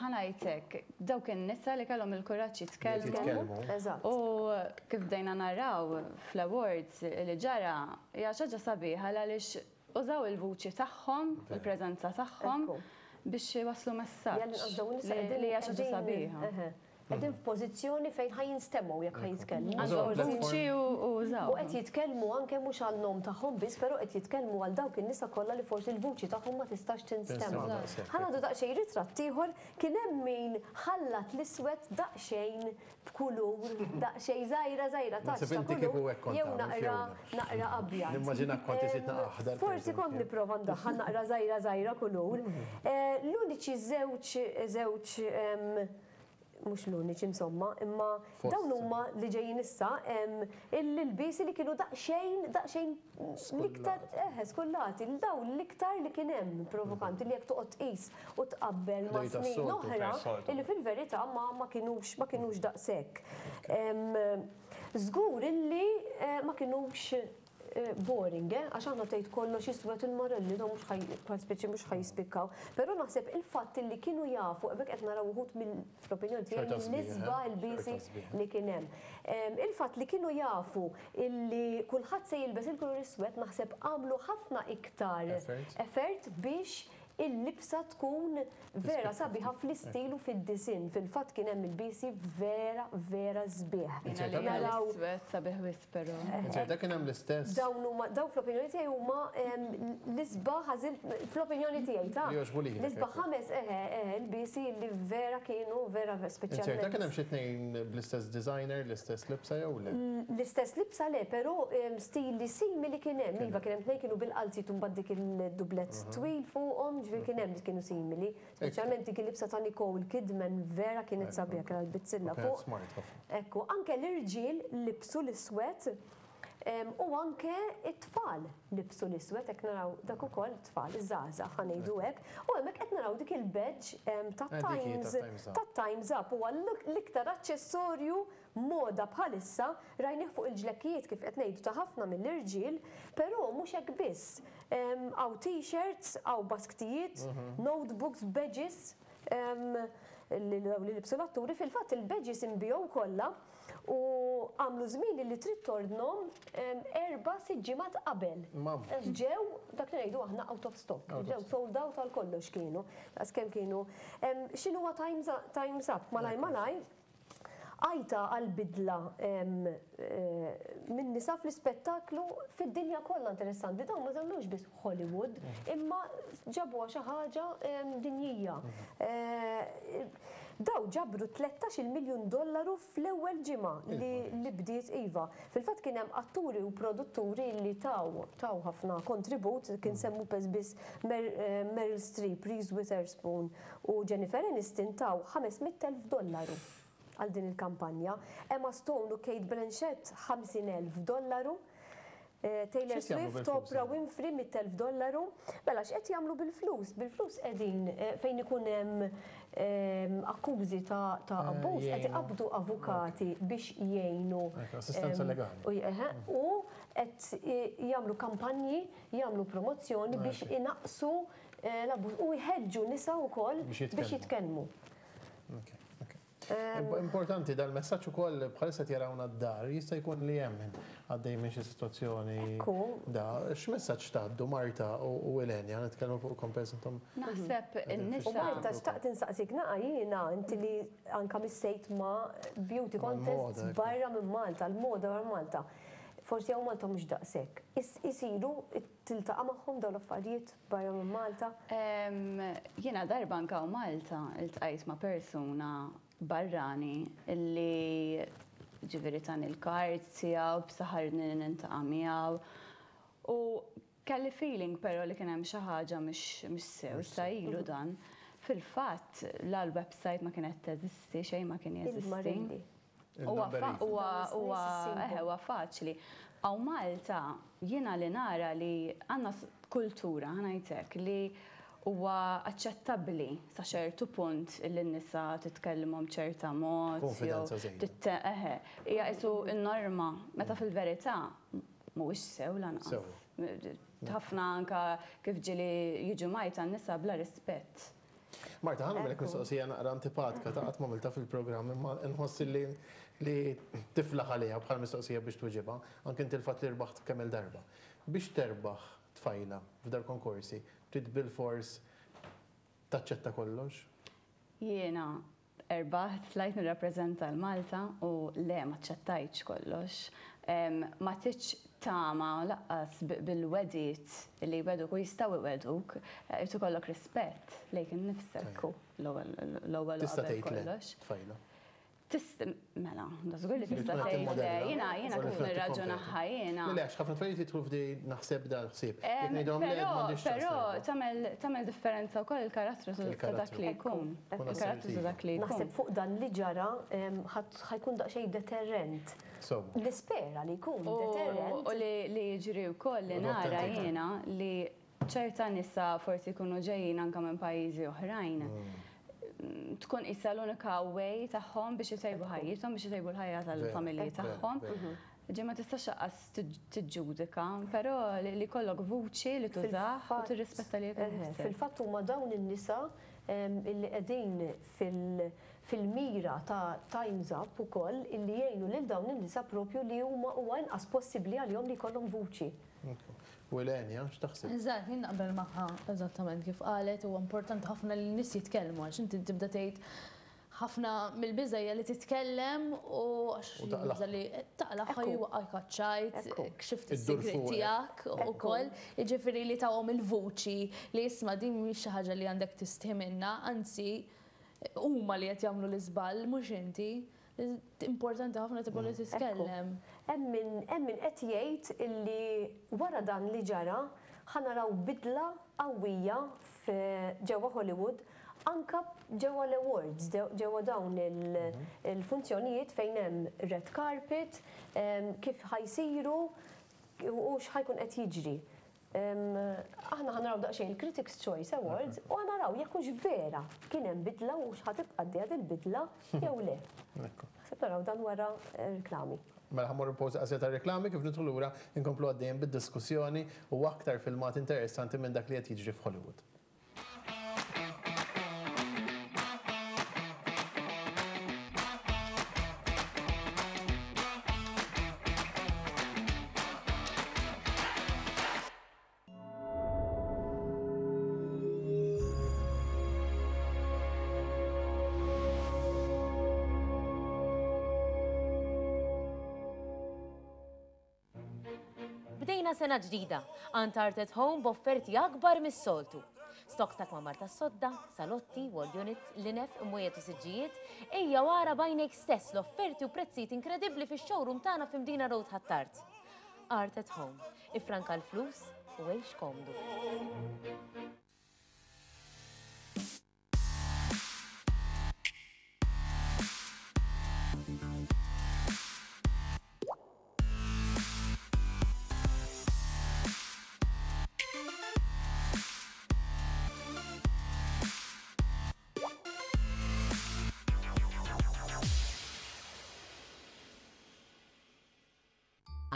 ħa ngħidlek dawk in-nisa li kellhom il-kuraġġ jitkellmu. Jitkellmu. Eżatt. U kif bdejna naraw fl-awards li ġara, hija xi ħaġa sabiħa għaliex użaw il-vuċi tagħhom, il-preżenza tagħhom biex iwasslu messaġġ li hija xi ħaġa sabiħa. Qegħdin f'pożizzjoni fejn ħa jinstemgħu jekk ħa jitkellmu. Għandhom vuċi u użaw. U qed jitkellmu anke mhux għan-nom tagħhom biss, però qed jitkellmu għal dawk in-nisa kollha li forsi l-vuċi tagħhom ma tistax tinstema'. Ħa nagħdu daqsxejn ritratt ieħor, kien hemm min ħallat l-iswed daqsxejn b'kulur, daqsxejn żgħira żgħira touch ta' kulur jew naqra naqra abjad. Nimmaġinak kont iżid naqra aħdar. Forsi kont nipprova ndaħħal naqra żgħira żgħira kulur. L-uniċi żewġ żewġ mhux l-uniċi insomma, imma dawn huma li ġejjin issa l-ilbiesi li kienu daqsxejn daqsxejn l-iktar eħe skullati, dawn l-iktar li kien hemm provokanti li jekk toqgħod tqis u tqabbel ma' snin oħra illi fil-verità ma ma kinux ma kinux daqshekk. Żgur illi ma kinux boring, eh? Għax aħna tgħid kollox iswed il-marelli dawn mhux ħaj bħal speċi mhux ħa jispikkaw. Però naħseb il-fatt illi kienu jafu, hemmhekk qed naraw uħud mill fl-opinjoni tiegħi mill-isbaħ ilbiesi li kien hemm. Il-fatt li kienu jafu illi kulħadd se jilbes il-kulur iswed naħseb għamlu ħafna iktar effort biex il-libsa tkun vera sabiħa fl-istil u fid-disinn. Fil-fatt kien hemm ilbiesi vera vera sbieħ. Naraw. L-iswed sabiħ wisq però. Inzerta kien hemm l-istess. Dawn huma dawn fl-opinjoni tiegħi huma l-isbaħ għażilt fl-opinjoni tiegħi ta'. Li jogħġbu lilek. L-isbaħ ħames eħe eħe ilbiesi li vera kienu vera speċjalment. Inzerta kien hemm xi tnejn bl-istess designer, l-istess libsa jew le? L-istess libsa le, però stili simili kien hemm. Iva kien hemm tnejn kienu bil-qalziet u mbagħad dik il-dublett twil fuqhom, ġifieri kien hemm li kienu simili. Speċjalment dik il-libsa ta' Nicole Kidman vera kienet sabiħa, kellha l-bizzilla fuq. Smart ħafna. Ekku, anke l-irġiel libsu l-iswed. U anke it-tfal libsu l-iswed, hekk naraw dak ukoll tfal, iż-żgħażagħ ħa ngħidu hekk. U hemmhekk qed naraw dik il-badge ta' Times ta' Times Up huwa l-iktar aċċessorju moda bħalissa, rajnih fuq il-ġlekkijiet kif qed ngħidu ta' ħafna mill-irġiel, però mhux hekk biss. Hawn t-shirts, hawn basktijiet, notebooks, badges li libsu l-atturi. Fil-fatt il-badges inbiegħu kollha. U għamlu żmien li trid tordnhom erba' sitt ġimgħat qabel. Għax ġew dak li ngħidu aħna out of stock. Ġew sold out għal kollox kienu. Daqs kemm kienu. X'inhuwa Time's Up? Malaj malaj, għajta għal bidla minn nisa fl-ispettaklu fid-dinja kollha interessanti. Dawn ma żammewx biss Hollywood, imma ġabuha xi ħaġa dinjija. Dawn ġabru 13-il miljun dollaru fl-ewwel ġimgħa li li bdiet iva. Fil-fatt kien hemm atturi u produtturi li taw taw ħafna kontribut, kien semmu pes biss Meryl Streep, Reese Witherspoon u Jennifer Aniston taw 500,000 dollaru għal din il-kampanja. Emma Stone u Cate Blanchett 50,000 dollaru. Taylor Swift, Oprah Winfrey, 100,000 dollaru. Mela x'qed jagħmlu bil-flus? Bil-flus qegħdin fejn ikun hemm akkużi ta' abbuż qed iqabbdu avukati biex jgħinu. Assistenza legali. U qed jagħmlu kampanji, jagħmlu promozzjoni biex inaqqsu l-abbuż u jħeġġu nisa wkoll biex jitkellmu. Importanti dal-messaġġ ukoll bħalissa jarawna d-dar, jista' jkun li hemm min għaddej minn xi sitwazzjoni. Da, x'messaġġ tgħaddu Marta u Elenia, nitkellmu fuq kompens intom. Naħseb in-nisa. U Marta xtaqt insaqsik naqa' jiena inti li anka missejt ma' beauty contests barra minn Malta, l-moda barra Malta. Forsi hawn Malta mhux daqshekk. Isiru tiltaqa' magħhom dawn l-affarijiet? Barra minn Malta? Jiena darba anke hawn Malta iltqajt ma' persuna barrani li ġifieri tani l-card tiegħu b'saħarni li niltaqa' miegħu u kelli feeling però li kien hemm xi ħaġa mhix sew, issa ilu dan. Fil-fatt la l-website ma kienet teżisti, xejn ma kien jeżisti. Huwa huwa eħe huwa faċli. Hawn Malta jiena li nara li għandna kultura, ħa ngħid hekk, li huwa aċċettabbli sa ċertu punt li n-nisa titkellimhom b'ċerta mod. Konfidenza żejda. Eħe, hija qisu n-norma, meta fil-verità mhuwiex sew lanqas. Ħafna anke kif ġieli jiġu mgħajta n-nisa bla rispett. Marta, ħa nagħmellek mistoqsija naqra antipatika ta' qatt m'għamiltha fil-programm imma nħoss li li tiflaħ għaliha bħala mistoqsija biex tweġibha, anke inti l-fatt li rbaħt kemm-il darba. Biex terbaħ tfajla f'dal-konkorsi, trid bilfors taċċetta kollox? Jiena Rbaħt, tlajt nirrappreżenta 'l Malta u le m'aċċettajtx kollox. Ma tridx tama laqqas bil-wegħdiet li jwegħduk u jistgħu jwegħduk, irid ikollok rispett lejk innifsek l-ewwel u qabel kollox. Tista' tgħid le, tfajla. Tista', mela, da żgur li tista' tgħid le, jiena jiena kif nirraġunaha jiena. Le, għax ħafna tfajliet jidħlu f'di naħseb dal-ħsieb. Jekk ngħidhom le, m'għandix ċans. Però tagħmel differenza wkoll il-karattru ta' dak li jkun. Il-karattru ta' dak li jkun. Naħseb fuq dan li ġara ħa jkun daqsxejn deterrent. Nispera li jkun deterrent. U li jiġri wkoll li nara jiena li ċerta nisa forsi jkunu ġejjin anke minn pajjiżi oħrajn, tkun qisha l-unika way tagħhom biex itejbu ħajjithom, biex itejbu l-ħajja tal-familji tagħhom. Ġi ma tistax lanqas tiġġudika, però li jkollok vuċi li tużah u tirrispetta lilek innifsek. Fil-fatt huma dawn in-nisa illi qegħdin fil-mira ta' Time's Up ukoll illi jgħinu lil dawn in-nisa propju li huma huwa inqas possibbli għalihom li jkollhom vuċi. U Elenia, x'taħseb? Eżatt, jien naqbel magħha eżattament kif qalet, huwa importanti ħafna li n-nies jitkellmu għax inti tibda tgħid ħafna mill-biża' hija li titkellem u għax jibża' li taqlagħha jwaqqgħek għaċ-ċajt, kxift is-sigriet tiegħek ukoll. Jiġifieri li tawhom il-vuċi li isma' din mhix xi ħaġa li għandek tistħi minnha, anzi huma li qed jagħmlu l-iżball mhux inti. Importanti ħafna tipo li titkellem. Hemm min hemm min qed jgħid illi wara dan li ġara ħa naraw bidla qawwija ġewwa Hollywood anka ġewwa l-awards, ġewwa dawn il-funzjonijiet fejn hemm red carpet, kif ħa jsiru. u x'ħa jkun qed jiġri. Aħna ħa naraw daqsxejn il-Critics' Choice Awards u ħa naraw jekk hux vera kien hemm bidla u x'ħa tibqa' għaddejja dil-bidla jew le. Naħseb naraw dan wara reklami. Mela ħa mmorru pawża qasira ta' reklami kif nidħlu lura nkomplu għaddejjin bid-diskussjoni u aktar filmati interessanti minn dak li qed jiġri f'Hollywood. Bdejna sena ġdida, għand Art at Home b'offerti akbar mis-soltu. Stocks ta' kmamar tas-sodda, salotti, wall units, linef, imwejjed u siġġijiet, ejja u ara b'għajnejk stess l-offerti u prezzijiet inkredibbli fix-showroom tagħna f'Mdina Road Ħ'Attard. Art at Home, iffranka l-flus u għix komdu.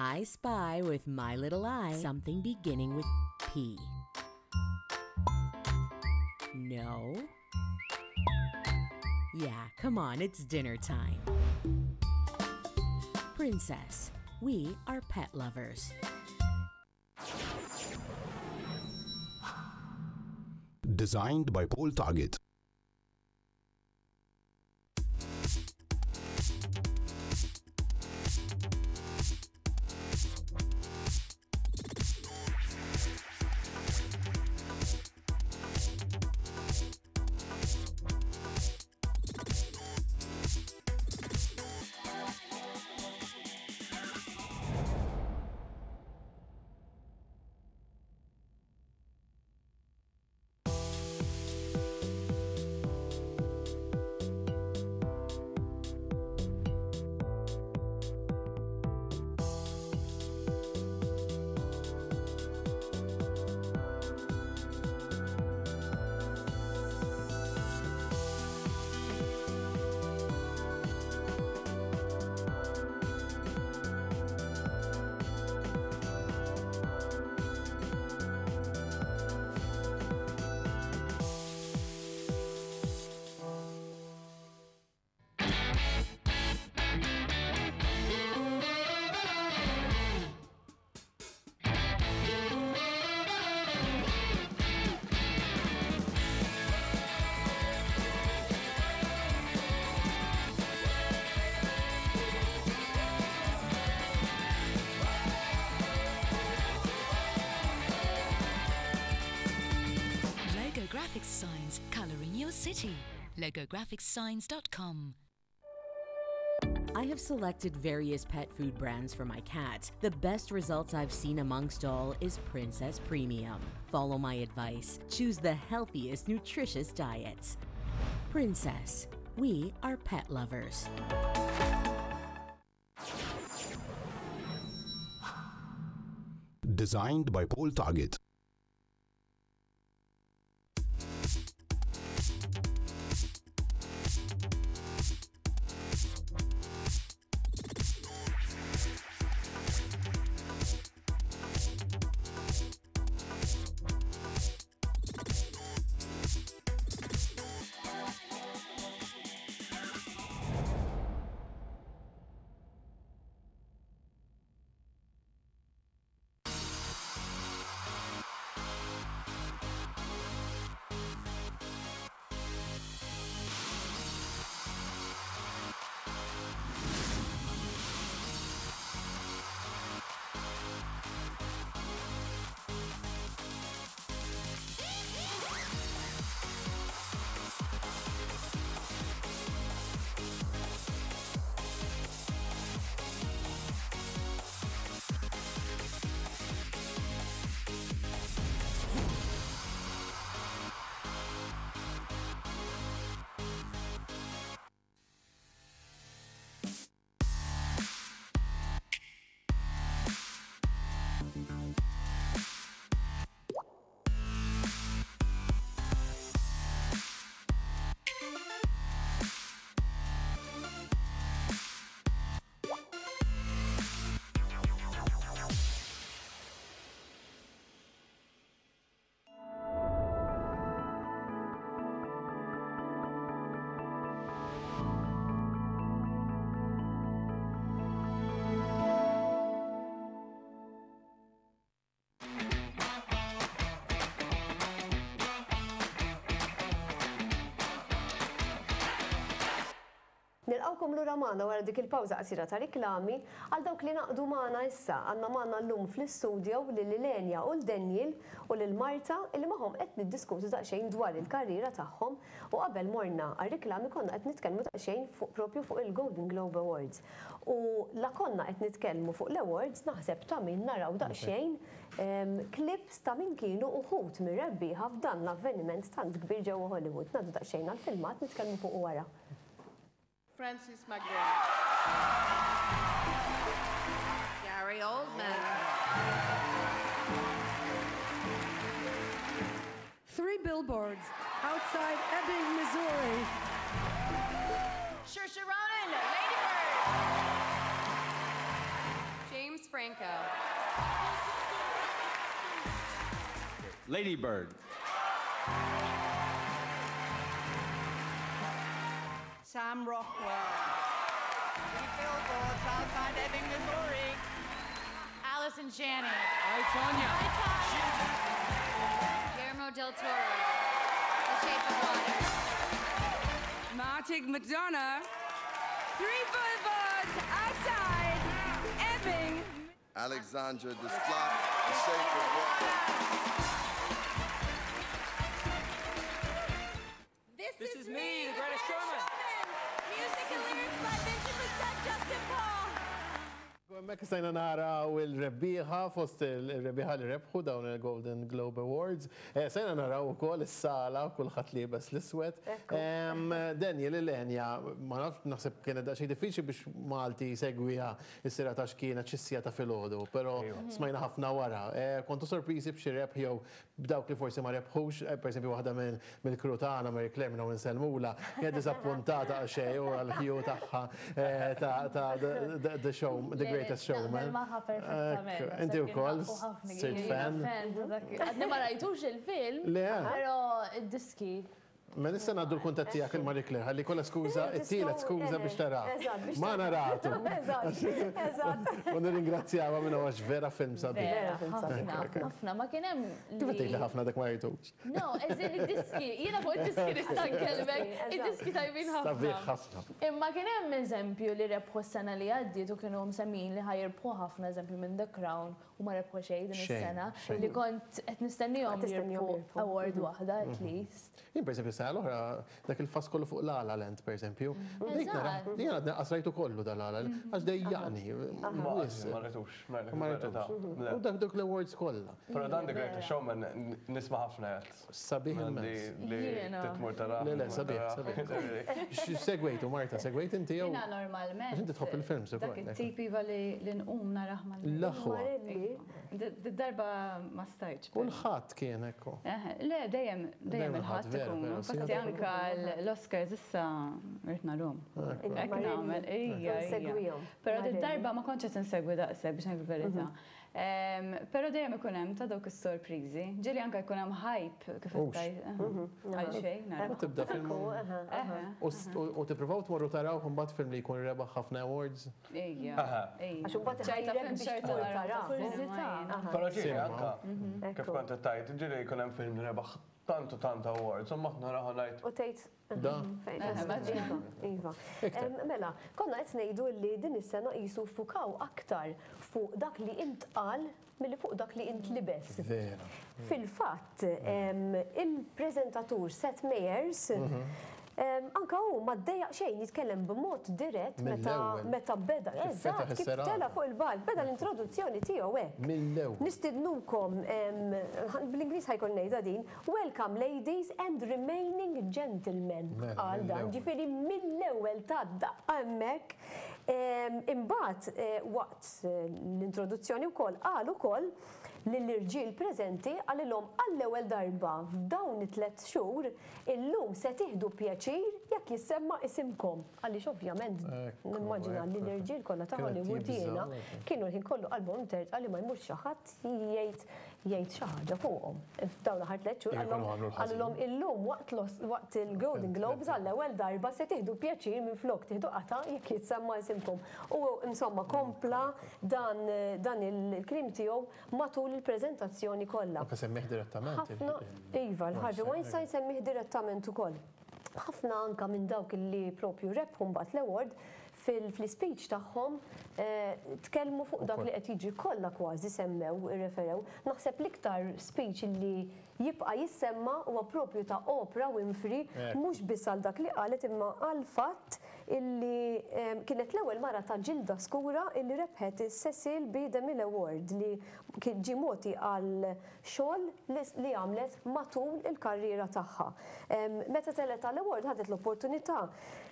I spy with my little eye something beginning with P. No. Yeah, come on, it's dinner time. Princess, we are pet lovers. Designed by Paul Target. Logo Graphics Signs, colouring your city. LogoGraphicsSigns.com. I have selected various pet food brands for my cat. The best results I've seen amongst all is Princess Premium. Follow my advice. Choose the healthiest, nutritious diets. Princess, we are pet lovers. Designed by Paul Target. Nilqgħukom lura magħna wara dik il-pawża qasira ta' riklami. Għal dawk li ngħaqdu magħna issa, għandna magħna llum fl-istudio lil Ilenia u 'l Daniel u lil Marta illi magħhom qed niddiskutu daqsxejn dwar il-karriera tagħhom u qabel morna għar-riklami konna qed nitkellmu daqsxejn fuq propju fuq il-Golden Globe Awards. U la konna qed nitkellmu fuq l-awards naħseb ta' min naraw daqsxejn clips ta' min kienu uħud mir-rebbieħa f'dan l-avveniment tant kbir ġewwa Hollywood. Ngħaddu daqsxejn għall-filmat nitkellmu fuqu wara. Francis McDormand. Gary Oldman. Three billboards outside Ebbing, Missouri. Saoirse Ronan, Lady Bird. James Franco. Lady Bird. Sam Rockwell. Three billboards outside Ebbing, Missouri. Allison Janney. I, Tonya. I, Tonya. Guillermo del Toro. The Shape of Water. Martin McDonagh. Three billboards outside Ebbing. Alexandra Desplat, The Shape of Water. This, This is me, The Greatest Showman. Music and lyrics by Vincent Bessette, Justin Paul. Hemmhekk stajna naraw il-rebbieħa fost il-rebbieħa li rebħu dawn il-Golden Globe Awards. Stajna naraw ukoll is-sala kulħadd liebes l-iswed. Daniel Ilenia, ma nafx naħseb kienet daqsxejn diffiċli biex Malti jsegwiha is-serata għax kienet xi siegħa ta' filgħodu, però smajna ħafna wara. Kontu sorpriżi b'xi rebħ jew b'dawk li forsi ma rebħux, pereżempju waħda mill-crew tagħna, Mary Claire minn hawn insellmulha, kienet diżappuntata għal xejn u għall-ħju tagħha ta' The Show, The Greatest Showman. Naqbel magħha perfettament. Inti wkoll sirt fan? Għadni ma rajtux il-film, però id-diski. Mela issa ngħaddu l-kuntatt tiegħek il Marie Claire ħalli jkollha skuża, it-tielet skuża biex tara. Ma naratu. Eżatt. U nirringrazzjawha minn għax vera film sabiħ. Vera film sabiħ. Ħafna, ma kien hemm. Kif qed tgħidli ħafna dak ma rajtux? No, eżin id-diski, jiena fuq id-diski nista' nkellmek, id-diski tajbin ħafna. Sabiħ ħafna. Imma kien hemm eżempju li rebħu s-sena li għaddiet u kienu msemmijin li ħa jirbħu ħafna eżempju minn The Crown u ma rebħu xejn din is-sena li kont qed nistennihom jirbħu award waħda at least. Jien pereżempju sena l-oħra dak il-fass kollu fuq La La Land pereżempju. Jien għadni qas rajtu kollu da La La Land għax dejjaqni. Ma rajtux. Ma rajtux. U dak dawk l-awards kollha. Però dan The Greatest Showman nisma' ħafna jgħid. Sabiħ immens. Li titmur tara. Le, le, sabiħ, sabiħ. Segwejtu, Marta, segwejt inti jew? Jiena normalment. Għax inti tħobb il-films ukoll. Dak it-tip iva li nqum narah mal. L-aħwa. Did-darba ma stajtx. U l-Ħadd kien ekku. Le, dejjem, dejjem il-Ħadd ikun. Infatti anka l-Oscars issa rrid narhom. Hekk nagħmel, ija. Segwihom. Però did-darba ma kontx qed insegwi daqshekk biex ngħid il-verità. Però dejjem ikun hemm ta' dawk is-sorpriżi. Ġieli anke jkun hemm hype kif qed tgħid. Għal xejn nara. U tibda film. U tippruvaw tmorru tarawh imbagħad film li jkun rebaħ ħafna awards. Ejja. Għax imbagħad iħajrek biex tmur tarah. Però ġieli anke kif kont qed tgħid, ġieli jkun hemm film li rebaħ tant u tant awards, u mbagħad narah u ngħid. U tgħid Da. Iva, iva. Mela, konna qed ngħidu li din is-sena qisu ffukaw aktar fuq dak li intqal milli fuq dak li intlibes. Vera. Fil-fatt, il-preżentatur Seth Meyers anka hu ma ddejjaq xejn jitkellem b'mod dirett meta meta beda, eżatt, kif tela' fuq il-palk, beda l-introduzzjoni tiegħu hekk. Mill-ewwel. Nistidnukom, bl-Ingliż ħa jkolli ngħidha din, Welcome ladies and remaining gentlemen, qal dan, ġifieri mill-ewwel ta daqqa hemmhekk. Imbagħad waqt l-introduzzjoni wkoll qal ukoll lill-irġiel preżenti qalilhom għall-ewwel darba f'dawn it-tlett xhur illum se tieħdu pjaċir jekk jissemma isimkom għaliex ovvjament nimmaġina li l-irġiel kollha ta' Hollywood jiena kienu l-ħin kollu qalbhom imtertqa li ma jmurx xi ħadd jgħid jgħid xi ħaġa fuqhom. F'dawn l-aħħar tlett xhur qalilhom illum waqt il-Golden Globes għall-ewwel darba se tieħdu pjaċir minflok tieħdu qatgħa jekk jitsemma isimkom. U insomma kompla dan dan il-kliem tiegħu matul il-preżentazzjoni kollha. Anke semmih direttament. Ħafna, iva, l-Harvey Weinstein semmih direttament ukoll. Ħafna anka minn dawk li propju rebħu mbagħad l-award fil-speech tagħhom tkellmu fuq dak li qed jiġri, kollha kważi semmew, irreferew. Naħseb l-iktar speech li jibqa' jissemma huwa propju ta' Oprah Winfrey, mhux biss għal dak li qalet imma għall-fatt illi kienet l-ewwel mara ta' ġilda skura illi rebħet is-Cecil B. DeMille Award li kien ġie mogħti għal xogħol li għamlet matul il-karriera tagħha. Meta telgħet għall-award ħadet l-opportunità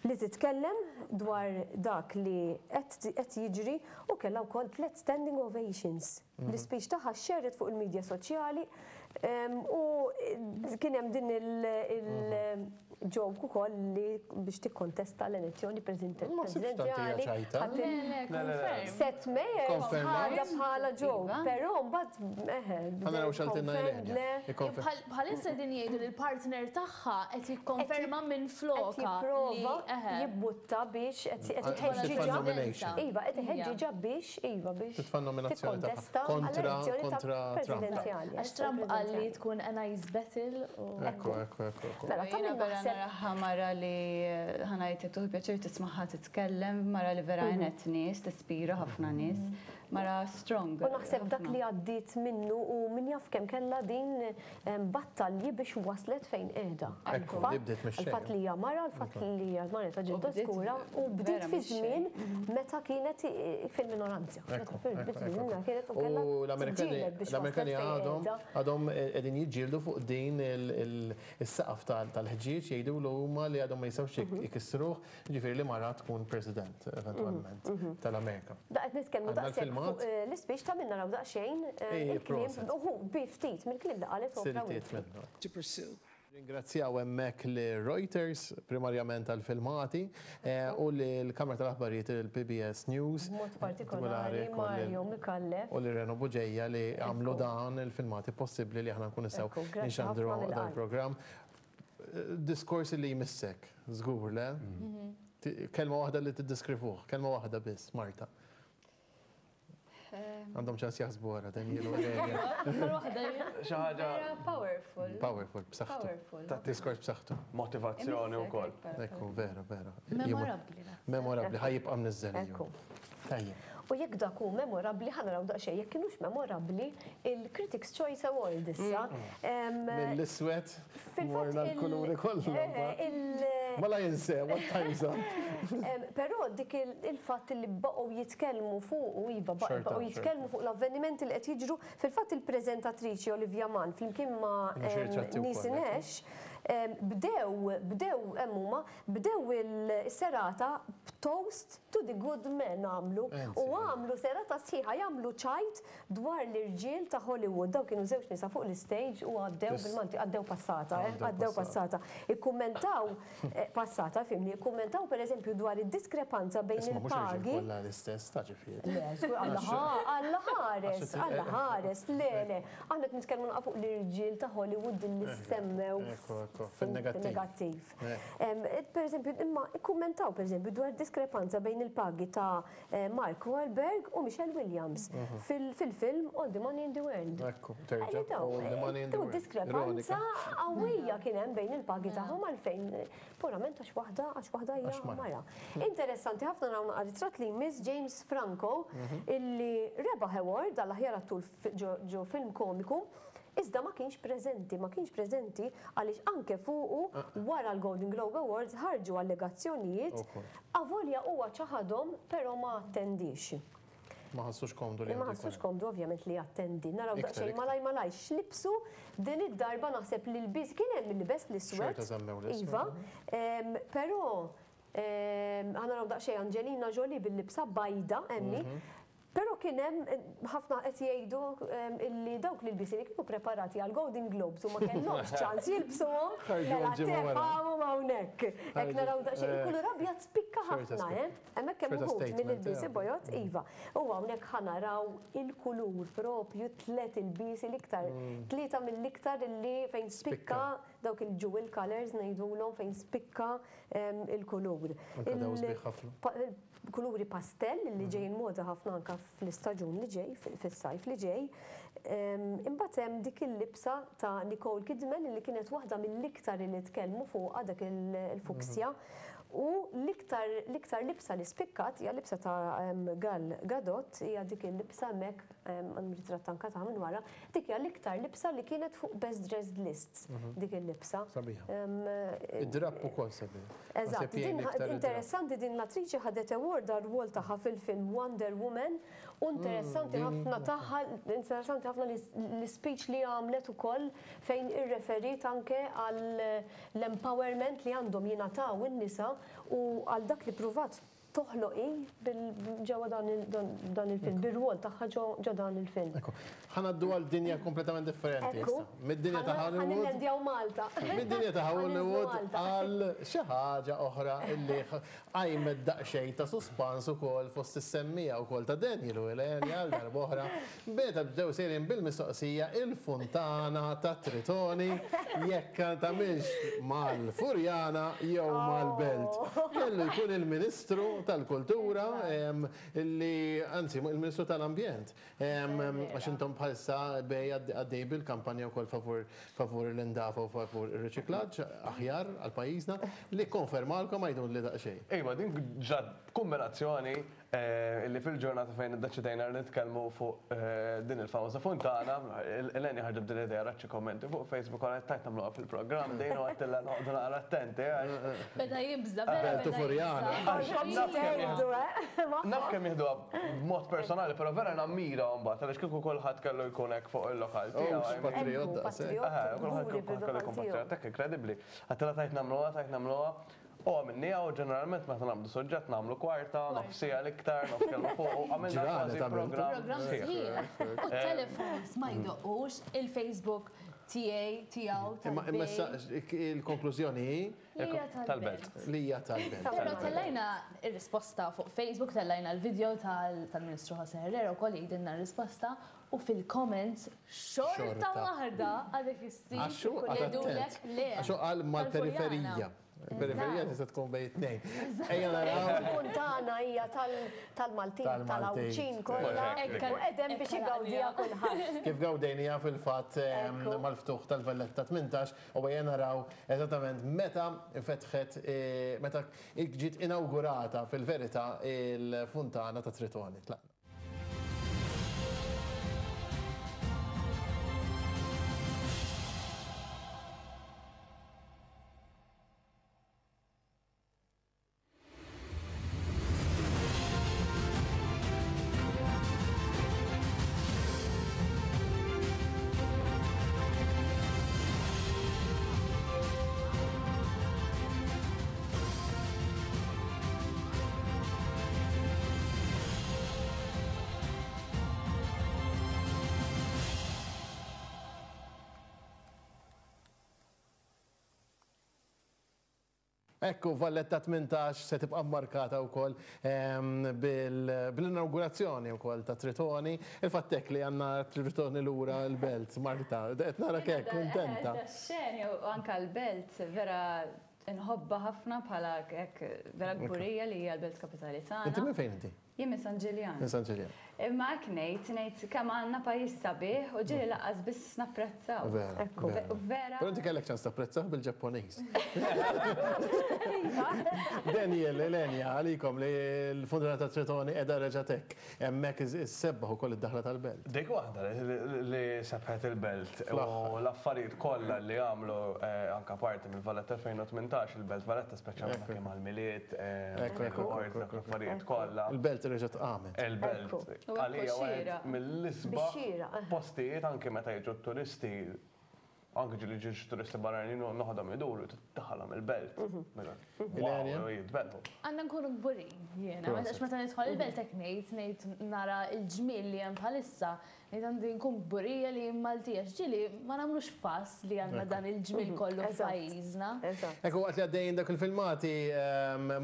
li titkellem dwar dak li qed jiġri u kellha wkoll tlett standing ovations. L-ispeech tagħha xxerred fuq il-midja soċjali u kien hemm din il-joke ukoll li biex tikkontesta l-elezzjoni presidenzjali. Seth Meyers ħadha bħala joke, però mbagħad eħe. Ħa naraw x'għaltilna Ylenia. Bħalissa qegħdin jgħidu li l-partner tagħha qed jikkonferma minflokha. Qed jipprova jibbutta biex qed iħeġġiġha. Iva, qed iħeġġiġha biex iva biex Titfa' nominazzjoni tikkontesta kontra għall-elezzjoni ta' kontra Trump. presidenzjali. Għax Trump qal li tkun a nice battle u. Ekku, ekku, ekku, ekku. Mela, ta' Jiena min vera naħseb naraha mara li ħa ngħidlek tieħu pjaċir tismagħha titkellem, mara li vera għenet nies, tispira ħafna nies, mara strong. U naħseb dak li għaddiet minnu u min jaf kemm kellha din battalji biex waslet fejn qiegħda. Ekku, li bdiet mix-xejn. Għall-fatt li hija mara, għall-fatt li hija mara ta' ġilda skura u bdiet fi żmien meta kienet fil-minoranza. Ekku, ekku, ekku. U l-Amerikani l-Amerikani għadhom għadhom qegħdin jiġġieldu fuq din is-saqaf tal-ħġieġ jgħidulu huma li għadhom ma jistgħux ikissruh, jiġifieri li mara tkun president eventwalment tal-Amerika. Da qed nitkellmu daqshekk fuq l-ispeech ta' min naraw daqsxejn il-kliem, uħu bi ftit mill-kliem li qalet Oprah Winfrey. To pursue. Ringrazzjaw hemmhekk lil Reuters, primarjament għall-filmati, u lill-Kamra tal-Aħbarijiet il-PBS News. B'mod partikolari Mario Micallef. U lil Reno Bugeja li għamlu dan il-filmati possibbli li aħna nkunu nistgħu nxandru dan il-programm. Diskors li jmissek, żgur le? Kelma waħda li tiddeskrivuh, kelma waħda biss, Marta. Għandhom ċans jaħsbu wara, Daniel u Valeria. Xi ħaġa. Powerful. Powerful, b'saħħtu. Powerful. Ta' diskors b'saħħtu. Motivazzjoni wkoll. Ekku, vera, vera. Memorabbli. Memorabbli, ħa jibqa' mniżżel. Ekku. Tajjeb. U jekk dak hu memorabbli, ħa naraw daqsxejn jekk kinux memorabbli il-Critics' Choice Award issa. Mill-iswed morna l-kuluri kollha. Mela jinsew, what time's up. Però dik il-fatt li baqgħu jitkellmu fuq u iva baqgħu jitkellmu fuq l-avvenimenti li qed jiġru, fil-fatt il-preżentatriċi Olivia Munn flimkien ma' Niecy Nash bdew bdew hemm huma bdew il-serata b'toast to the good men għamlu u għamlu serata sħiħa jagħmlu ċajt dwar l-irġiel ta' Hollywood. Dawn kienu żewġ nisa fuq l-istage u għaddew bil-Malti, għaddew passata, eh, għaddew passata. Ikkummentaw passata, fimni, ikkummentaw pereżempju dwar id-diskrepanza bejn Isma' mhux irġiel il-pagi. kollha l-istess ta' ġifieri. Le, żgur, Alla ħa, Alla ħares, Alla ħares, le, le. Aħna qed nitkellmu naqra fuq l-irġiel ta' Hollywood li semmew Ekku, ekku, fin-negattiv. fin-negattiv. Per eżempju, imma ikkummentaw per eżempju dwar diskrepanza bejn il-pagi ta' Mark Wahlberg u Michelle Williams fil-film All the Money in the World. Ekku, terġa', All the Money in the World. Diskrepanza qawwija kien hemm bejn il-pagi tagħhom għalfejn purament għax waħda għax waħda hija mara. Interessanti ħafna naraw naqra ritratt li jmiss James Franco illi rebaħ award għall-aħjar attur ġo film komiku. Iżda ma kienx preżenti, ma kienx preżenti għaliex anke fuqu wara l-Golden Globe Awards ħarġu allegazzjonijiet avolja huwa ċaħadhom però ma attendix. Ma ħassux komdu li Ma ħassux komdu ovvjament li jattendi. Naraw daqsxejn malaj malaj x'libsu din id-darba naħseb li l-biż kien hemm min libes l-iswed. Iva, però ħa naraw daqsxejn Angelina Jolie bil-libsa bajda hemm hi. Però kien hemm ħafna qed jgħidu illi dawk l-ilbiesi li kienu preparati għal Golden Globes u ma kellhomx ċans jilbsuhom, mela tefgħuhom hawnhekk. Hekk naraw daqsxejn il-kulur abjad spikka ħafna, eh? Hemmhekk hemm uħud mill-ilbiesi bojod, iva. U hawnhekk ħa naraw il-kulur propju tliet ilbiesi l-iktar, tlieta mill-iktar illi fejn spikka. dawk il-jewel colours ngħidulhom fejn spikka il-kulur. Anke dawn sbieħ ħafna. Kuluri pastell li ġejjin moda ħafna anke fl-istaġun li ġej, fis-sajf li ġej. Imbagħad hemm dik il-libsa ta' Nicole Kidman li kienet waħda mill-iktar li tkellmu fuqha dak il-fuksja. U l-iktar l-iktar libsa li spikkat hija libsa ta' Gal Gadot, hija dik il-libsa hemmhekk hemm ritratt anke tagħha minn wara, dik hija l-iktar libsa li kienet fuq best dressed lists dik il-libsa. Sabiħa. Id-drapp ukoll sabiħ. Eżatt, din interessanti din l-attriċi ħadet award għar-rwol tagħha fil-film Wonder Woman u interessanti ħafna tagħha, interessanti ħafna l-ispeech li għamlet ukoll fejn irreferiet anke għall-empowerment li għandhom jingħataw in-nisa u għal dak li ppruvat toħloq hi ġewwa dan il-film, bir-rwol tagħha ġo dan il-film. Ekku. Ħa ngħaddu għal dinja kompletament differenti issa. Mid-dinja ta' Hollywood. Ħa nillendjaw Malta. Mid-dinja ta' Hollywood għal xi ħaġa oħra illi qajmet daqsxejn ta' suspans ukoll fost is-semmiegħa wkoll ta' Daniel u Eleni għal darb'oħra meta bdew sejrin bil-mistoqsija il-funtana ta' Tritoni jekk tagħmilx mal-Furjana jew mal-Belt. Kellu jkun il-Ministru tal-Kultura li, anzi, il-Ministru tal-Ambjent, għax intom bħalissa bej għaddej bil-kampanja wkoll favur favur l-indafa u favur ir-riċiklaġġ aħjar għal pajjiżna, li kkonfermalkom għiduli daqsxejn. Iva, din ġrat b'kumbinazzjoni Illi fil-ġurnata fejn iddeċidejna li nitkellmu fuq din il-famuża funtana, Eleni ħarġet b'din l-idea rat xi kummenti fuq Facebook u qalet tajt nagħmluha fil-programm din u għedtilha noqogħdu naqra attenti għax. Beda jibża', vera beda jibża'. Naf kemm jieħduha b'mod personali, però vera nammirahom mbagħad għaliex kieku kulħadd kellu jkun hekk fuq il-lokal tiegħu. Hux patriot daqshekk. Kulħadd kellu jkun patriot hekk, inkredibbli. Għedtilha tajt nagħmluha, tajt nagħmluha. U għamilniha u ġeneralment meta nagħmlu suġġett nagħmlu kwarta, nofs siegħa l-iktar, nofs kelma fuq u għamilna kważi programm. Programm sħiħ. U t-telefons ma jdoqqux, il-Facebook tiegħi, tiegħu, tal-. Imma issa il-konklużjoni hi? Li hija tal-belt. Li hija tal-belt. Però tellajna r-risposta fuq Facebook, tellajna l-video tal-Ministru José Herrera wkoll jgħidilna r-risposta u fil-comments xorta waħda għadek issib jgħidulek le. Għax hu qal mal-periferija. Il-periferija tista' tkun bejn it-tnejn. Ejja naraw. Il-funtana hija tal-Maltin, tal-Għawdxin kollha. U qegħdem biex igawdiha kulħadd. Kif gawdejniha fil-fatt mal-ftuħ tal-Valletta 18 u ejja naraw eżattament meta fetħet, meta ġiet inawgurata fil-verità il-funtana ta' Tritoni. Tlaqna. Ekku, Valletta 18 se tibqa' mmarkata wkoll bil-inawgurazzjoni wkoll ta' Tritoni. Il-fatt hekk li għandna Tritoni lura l-belt, Marta, qed narak hekk kuntenta. Xeni u anke l-belt vera nħobbha ħafna bħala hekk vera kburija li hija l-belt kapitali tagħna. Inti minn fejn inti? Jien minn San Ġiljan. Minn San Ġiljan. Imma hekk ngħid, ngħid kemm għandna pajjiż sabiħ u ġieli lanqas biss napprezzaw. Vera. Ekku. Vera. Però inti kellek ċans tapprezzah bil-Ġappuniż. Daniel, Elenia, għalikom li l-Funtana ta' Tritoni qiegħda reġgħet hekk. Hemmhekk issebbaħ ukoll id-daħla tal-belt. Dik waħda li sebħet il-belt u l-affarijiet kollha li għamlu anke parti mill-Valletta 2018, il-Belt Valletta speċjalment anke mal-Milied, l-affarijiet kollha. Il-belt reġgħet qamet. Il-belt. Għalija wieħed mill-isbaħ postijiet anke meta jiġu t-turisti, anke ġieli ġie xi turisti barranin u noħodhom iduru tiddaħħalhom il-belt. Wow, jitbellħu. Għandna nkunu kburin jiena, għax meta nidħol il-belt hekk ngħid, ngħid nara l-ġmiel li hemm bħalissa. Ngħid għandi nkun kburija li jien Maltija għax ġieli ma nagħmlux fass li għandna dan il-ġmiel kollu f'pajjiżna. Ekku waqt li għaddejjin dak il-filmati,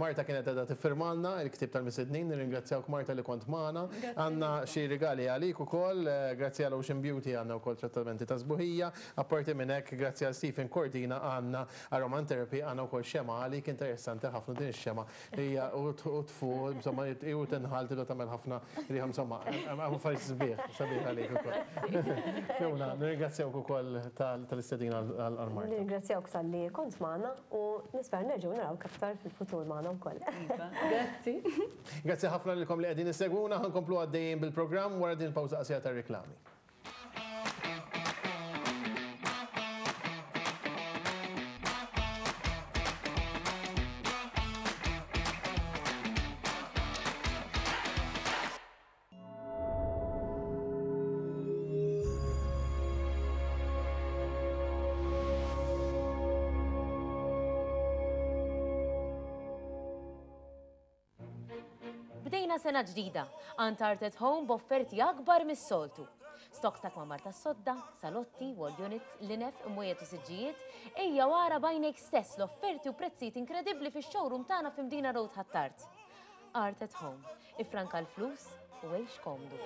Marta kienet qiegħda tiffirmalna il-ktieb tal-misednin, nirringrazzjawk Marta li kont magħna. Għandna xi rigali għalik ukoll, grazzi għal Ocean Beauty għandna wkoll trattamenti ta' sbuħija, apparti minn hekk grazzi għal Stephen Cordina għandna aromatherapy, għandna wkoll xemgħa għalik interessanti ħafna din ix-xemgħa Hija u tfu, insomma, u tinħal tidu tagħmel ħafna riħa insomma, hemm affarijiet sbieħ, sabiħ għalik ukoll. Fiona, nirringrazzjawk ukoll tal-istedina għal Marta. Nirringrazzjawk talli kont magħna u nispera nerġgħu narawk aktar fil-futur magħna wkoll. Iva, grazzi. Grazzi ħafna lilkom li qegħdin issegwuna, ħa nkomplu għaddejjin bil-programm wara din il-pawża qasira tar-riklami. Bdejna sena ġdida għand Art at Home b'offerti akbar mis-soltu. Stocks ta' kmamar tas-sodda, salotti, wall units, linef, imwejjed u siġġijiet, ejja u ara b'għajnejk stess l-offerti u prezzijiet inkredibbli fix-showroom tagħna f'Mdina Road Ħ'Attard. Art at Home, iffranka l-flus u għix komdu.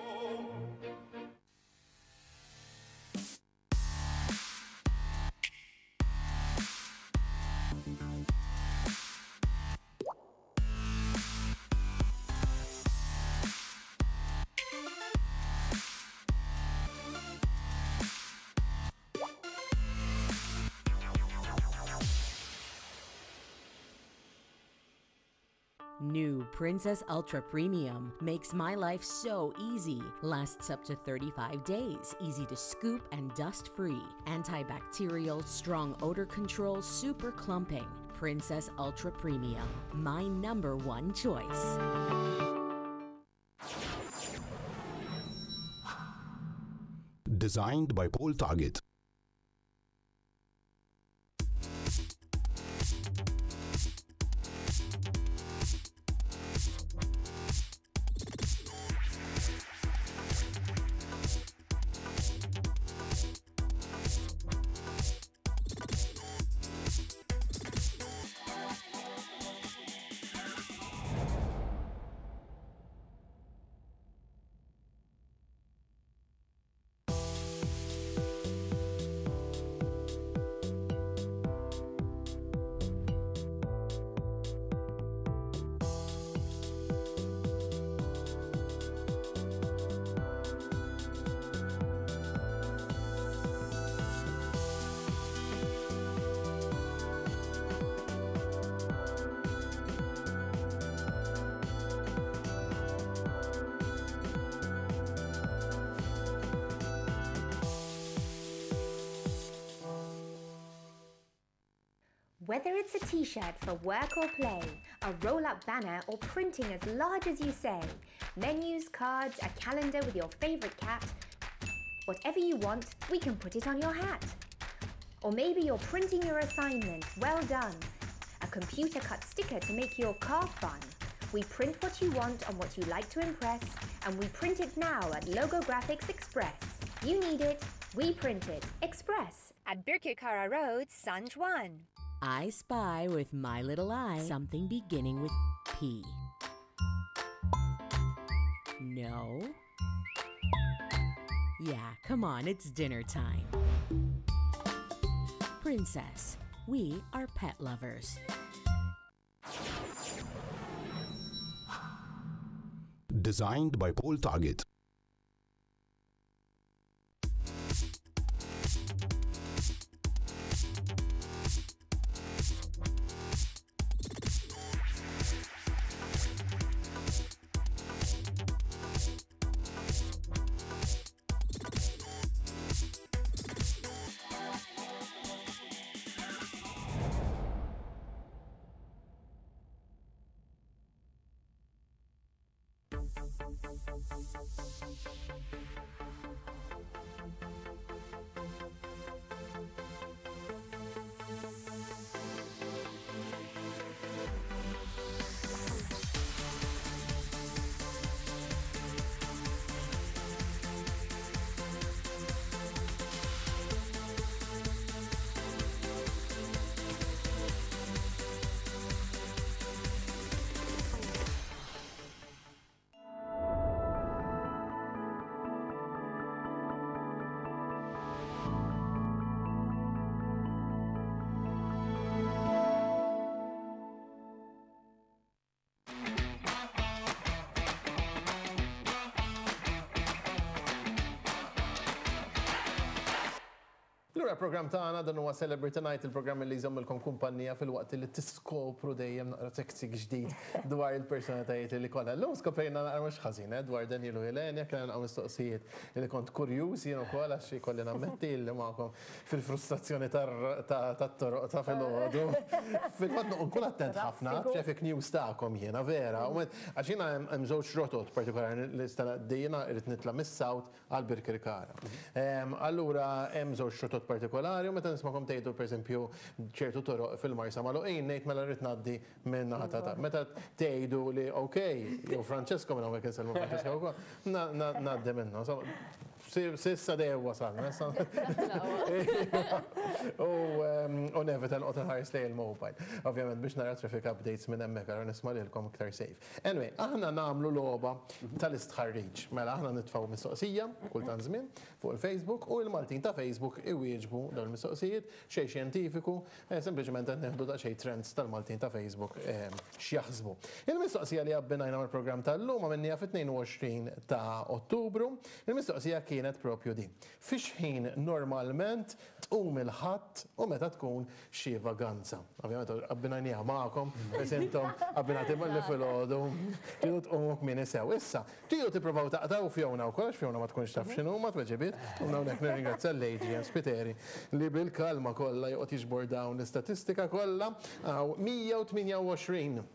New Princess Ultra Premium makes my life so easy. Lasts up to 35 days, easy to scoop and dust free. Antibacterial, strong odor control, super clumping. Princess Ultra Premium, my number one choice. Designed by Paul Target. Whether it's a t-shirt for work or play, a roll-up banner or printing as large as you say, menus, cards, a calendar with your favourite cat, whatever you want, we can put it on your hat. Or maybe you're printing your assignment, well done. A computer cut sticker to make your car fun. We print what you want on what you like to impress, and we print it now at Logo Graphics Express. You need it, we print it. Express at Birkirkara Road, San Juan. I spy with my little eye something beginning with P. No. Yeah, come on, it's dinner time. Princess, we are pet lovers. Designed by Paul Target. Lura l-programm tagħna dan huwa Celebrity Night, il-programm li jżommilkom kumpanija filwaqt li tiskopru dejjem naqra teksik ġdid dwar il-personalitajiet li kollha. Llum skoprejna naqra mhux ħażin eh, dwar Daniel u Ilenia, kellna naqra mistoqsijiet li kont kurjuż jien ukoll għax ikolli nammetti li magħkom fil-frustrazzjoni tat-toroq ta' filgħodu. Fil-fatt nkun attent ħafna traffic news tagħkom jiena vera. Għax jiena hemm żewġ rotot partikolari li jiena rrid nitla' mis-South għal Birkirkara. Allura hemm żewġ rotot partikolari u meta nismakom tgħidu pereżempju ċertu toroq fil-Marsa magħluqin ngħid mela rrid ngħaddi minn naħa ta' Meta tgħidu li ok, jew Francesco minn hawnhekk insellmu Francesco wkoll, ngħaddi minnu. Sissa dejjem wasalna. U nevita nqgħod inħares lejn il-mobile. Ovvjament biex nara traffic updates minn hemmhekk allura nisma' lilkom iktar safe. Anyway, aħna nagħmlu logħba tal-istħarriġ. Mela aħna nitfgħu mistoqsija kull tant żmien fuq il-Facebook u l-Maltin ta' Facebook iwieġbu dawn il-mistoqsijiet, xejn xjentifiku, sempliċement qed nieħdu daqsxejn trends tal-Maltin ta' Facebook x'jaħsbu. Il-mistoqsija li abbinajna mal-programm tal-lum għamilniha fit-22 ta' Ottubru. Il-mistoqsija kienet propju din. Fi x'ħin normalment tqum il-Ħadd u meta tkun xi vaganza. Ovvjament abbinajniha magħkom, biss intom abbinati malli filgħodu tridu tqumu kmieni sew. Issa, tridu tippruvaw taqtgħu Fiona wkoll għax Fiona ma tkunx taf x'inhuma t-tweġibiet. U hawnhekk nirringrazzja lil Adrian Spiteri li bil-kalma kollha joqgħod jiġbor dawn l-istatistika kollha. Hawn 128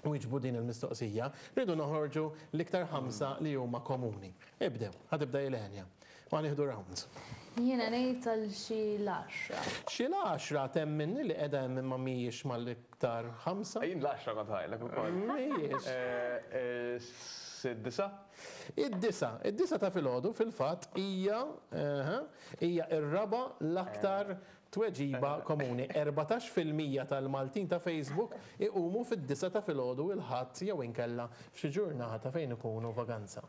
wieġbu din il-mistoqsija, rridu noħorġu l-iktar ħamsa li huma komuni. Ibdew, ħa tibda Ilenia. U ħa nieħdu rounds. Jiena ngħid għal xi l-għaxra. Xi l-għaxra temminni li qiegħda hemm imma mhijiex mal-iktar ħamsa. Jien l-għaxra kont ħajlek ukoll. Mhijiex. Id-disgħa? Id-disgħa. Id-disgħa ta' filgħodu fil-fatt hija, hija r-raba' l-aktar Tweġiba komuni, 14% tal-Maltin ta' Facebook iqumu fid-disgħa ta' filgħodu il-Ħadd jew inkella f'xi ġurnata fejn ikunu vaganza.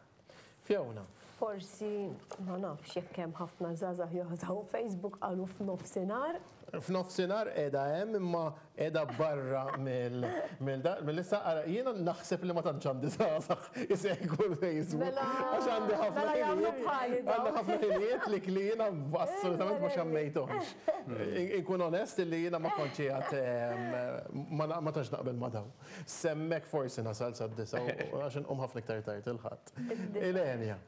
Fiona. Forsi, ma nafx jekk hemm ħafna żgħażagħ jużaw Facebook qalu f'nofsinhar. F'nofsinhar qiegħda hemm imma qiegħda barra mill-lista. Ara, jiena naħseb li ma tantx għandi żgħażagħ isegwu l-Facebook. Mela, Għax għandi ħafna mela jagħmlu ħinijiet, bħali għandi dawn. ħafna ħinijiet li li jiena assolutament ma xammejthomx. Inkun onest li jiena ma kontx qiegħed ma ma tantx naqbel ma' dawn. S'hemmhekk forsi nasal sad-disgħa u għax inqum ħafna iktar tard il-Ħadd. Ilenia.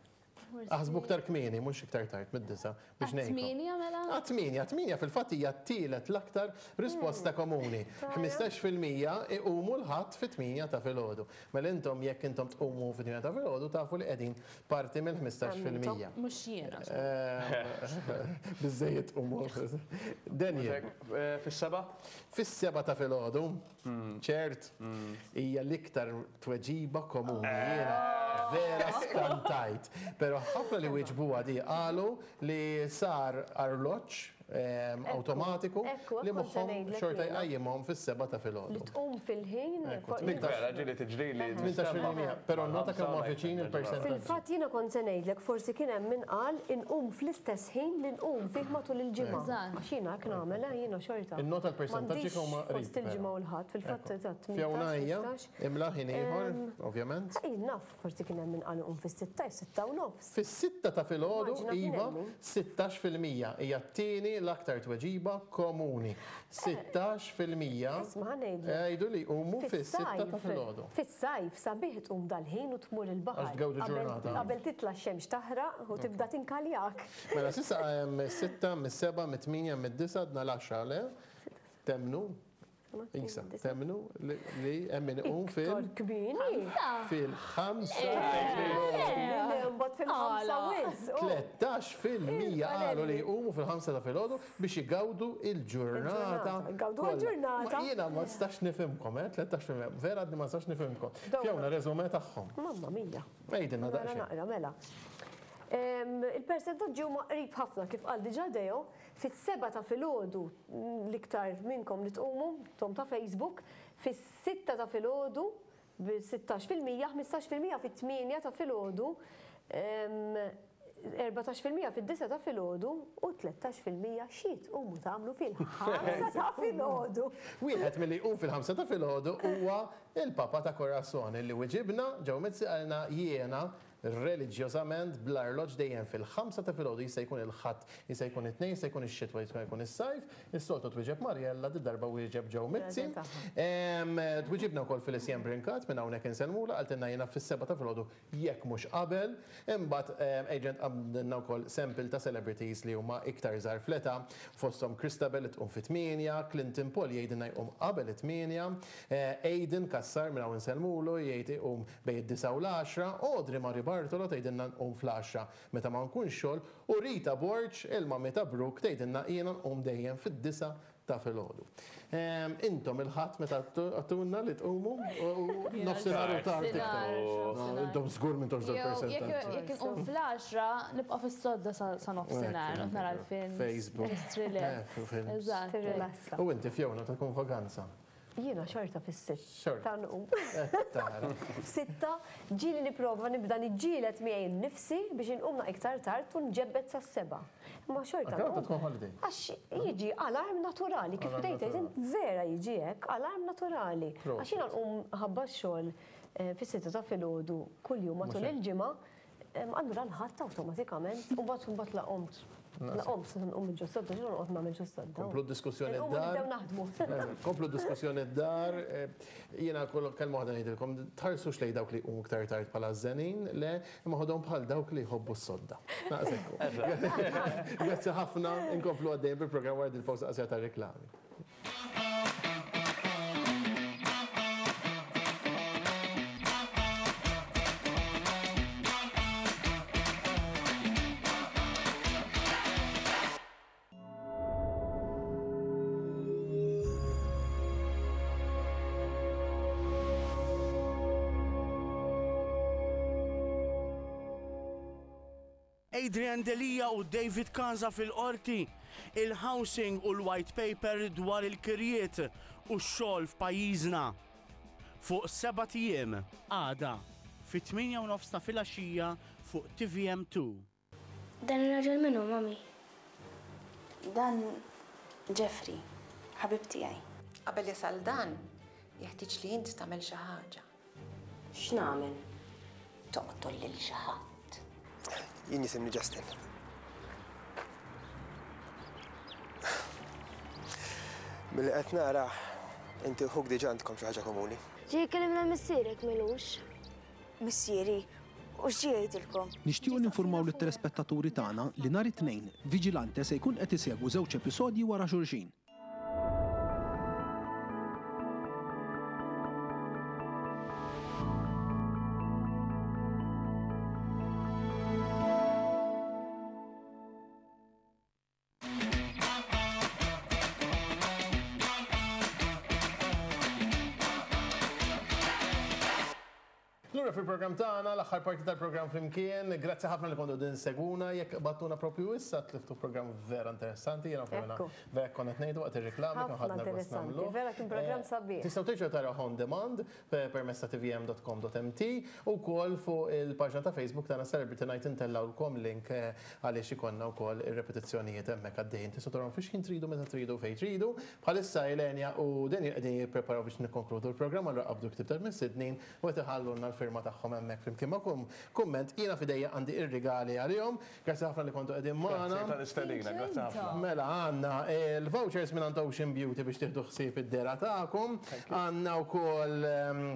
Aħsbu iktar kmieni, mhux iktar tard mid-disgħa biex ngħinkom. Għat-tmienja mela? Għat-tmienja, tmienja fil-fatt hija t-tielet l-aktar risposta komuni. 15% iqumu l-Ħadd fit-tmienja ta' filgħodu. Mela intom jekk intom tqumu fit-tmienja ta' filgħodu tafu li qegħdin parti mill-15%. Mhux jiena. Biżżejjed tqumu. Daniel. Fis-sebgħa? Fis-sebgħa ta' filgħodu. Ċert, hija l-iktar tweġiba komuni. Jiena vera skantajt. Però ħafna li wieġbuha di qalu li sar arloġġ awtomatiku li moħħhom xorta jqajjimhom fis-sebgħa ta' filgħodu. Li tqum fil-ħin. Vera, ġieli tiġrili. 18%. Però nnota kemm huma viċin il-persentaġġi. Fil-fatt jiena kont se ngħidlek forsi kien hemm min qal inqum fl-istess ħin li nqum fih matul il-ġimgħa. Għax jiena hekk nagħmel, eh, jiena xorta. Innota l-persentaġġi kemm huma qrib. Fost il-ġimgħa u l-Ħadd, fil-fatt eżatt. Fiona hija, imla ħin ieħor, ovvjament. Jien naf, forsi kien hemm min qal inqum fis-sitta, jew 6:30. Fis-sitta ta' filgħodu, iva, 16% hija t-tieni l-aktar tweġiba komuni. 16% Isma' ħa ngħidlek. jgħidu li jqumu fis-sitta ta' filgħodu. Fis-sajf sabiħ tqum dal-ħin u tmur il-baħar. Għax tgawdi ġurnata. Qabel titla' x-xemx taħraq u tibda tinkaljak. Mela s'issa hemm is-sitta, mis-sebgħa, mit-tmienja, mid-disgħa, għadna l-għaxra, le? Temmnu? Isa, temmnu li hemm min iqum fil. Iktar kmieni. Fil-ħamsa. Le, mbagħad fil-ħamsa wisq. 13% qalu li jqumu fil-ħamsa ta' filgħodu biex igawdu l-ġurnata. Igawdu l-ġurnata. Jiena ma nistax nifhimkom, eh, 13%. Vera għadni ma nistax nifhimkom. Fiona, resume tagħhom. Mamma mia. Għidilna daqsxejn. Naqra, mela. Il-persentaġġi huma qrib ħafna kif qal diġà Deo, fis-sebgħa ta' filgħodu l-iktar minnkom li tqumu, intom ta' Facebook, fis-sitta ta' filgħodu bi 16%, 15% fit-tmienja ta' filgħodu, 14% fid-disgħa ta' filgħodu u 13% xi tqumu tagħmlu fil-ħamsa ta' filgħodu. Wieħed milli jqum fil-ħamsa ta' filgħodu huwa l-Papa ta' Corazon li wiġibna, Joe Mizzi qalilna jiena. reliġjożament bl-arloġġ dejjem fil-ħamsa ta' filgħodu jista' jkun il-Ħadd, jista' jkun it-Tnejn, jista' jkun ix-xitwa, jista' jkun is-sajf. Is-soltu twieġeb Mariella, did-darba wieġeb Joe Mizzi. Twiġibna wkoll Felicien Brincat minn hawnhekk insellmulha, qaltilna jiena fis-sebgħa ta' filgħodu jekk mhux qabel. Imbagħad Adrian tqabbdilna wkoll sample ta' celebrities li huma iktar żgħar fl-età, fosthom Christabel li tqum fit-tmienja, Clinton Paul jgħidilna jqum qabel it-tmienja, Aidan Cassar minn hawn insellmulu jgħid iqum bejn id-disgħa u l-għaxra, Audrey Marie Bartolo tgħidilna nqum fl-għaxra meta ma nkunx xogħol, u Rita Borg, il-mummy ta' Brooke, tgħidilna jiena nqum dejjem fid-disgħa ta' filgħodu. Intom il-Ħadd meta għattuna li tqumu nofsinhar u tard iktar. Intom żgur m'intomx dal-persentaġġ. Jekk inqum fl-għaxra nibqa' fis-sodda sa nofsinhar noqgħod nara l-films. Facebook. Eżatt. U inti Fiona ta' tkun vaganza. Jiena xorta fis-sitta nqum. Tara. Sitta, ġieli nipprova nibda niġġieled miegħi nnifsi biex inqum naqra iktar tard u nġebbed sas-sebgħa. Imma xorta nqum. Tkun holiday. Għax jiġi alarm naturali, kif bdejt tgħid int vera jiġi hekk, alarm naturali. Għax jiena nqum ħabba x-xogħol fis-sitta ta' filgħodu kuljum matul il-ġimgħa, Allura l-Ħadd awtomatikament, u mbagħad mbagħad la qomt. La qomt se nqum minn ġos-sodda, x'inhu noqgħod nagħmel ġos-sodda? Komplu d-diskussjoni d-dar. Nibdew naħdmu. Komplu d-diskussjoni d-dar. Jiena kull kelma waħda ngħidilkom, tħarsux lejn dawk li jqumu iktar tard bħala żenin, le, imma ħodhom bħal dawk li jħobbu s-sodda. Naqshekk. Grazzi ħafna, inkomplu għaddejjin bil-programm wara dil-pawsa qasira tar-reklami. Adrian Delia u David Casa fil-Qorti, il-housing u l-white paper dwar il-kirjiet u x-xogħol f'pajjiżna. Fuq sebat ijiem, għada, fit-tmienja u nofs ta' filgħaxija fuq TVM2. Dan ir-raġel min hu, mummy? Dan Jeffrey, ħabib tiegħi. Qabel jasal dan, jeħtieġ li int tagħmel xi ħaġa. X'nagħmel? Toqtol lil xi ħadd. Jien jisimni Justin. Milli qed nara, inti u ħuk diġà għandkom xi ħaġa komuni. Ġie jkellimna missierek m'ilux. Missieri, u x'ġie jgħidilkom? Nixtiequ ninfurmaw lit-telespettaturi tagħna li nhar it-Tnejn, Vigilante se jkun qed isegwu żewġ episodji wara xulxin. Lura fil-programm tagħna, l-aħħar parti tal-programm flimkien. Grazzi ħafna li kontu din seguna, jekk battuna propju issa tliftu programm vera interessanti, jiena fjona vera konna qed ngħidu waqt ir-reklami kemm ħadna gost nagħmlu. Vera kien programm eh, sabiħ. Tistgħu terġgħu taraw on demand permezz ta' tvm.com.mt u wkoll fuq il-paġna ta' Facebook tagħna Celebrity Night intellawlkom link eh, għaliex ikollna wkoll ir-repetizzjonijiet hemmhekk għaddejjin. Tistgħu tarawhom fix ħin tridu meta tridu fejn tridu. Bħalissa Elenia u Daniel qegħdin jippreparaw biex nikkonkludu l-programm allura qabdu l-ktieb tal-mistednin u qed iħallulna l-firma tagħhom hemmhekk flimkien ma' kumment. Jiena f'idejja għandi r-rigali għalihom. Grazzi ħafna li kontu qegħdin magħna. Grazzi tal-istedina, grazzi ħafna. Mela għandna l-vouchers mingħand Ocean Beauty biex tieħdu ħsieb id-dehra tagħkom. Għandna wkoll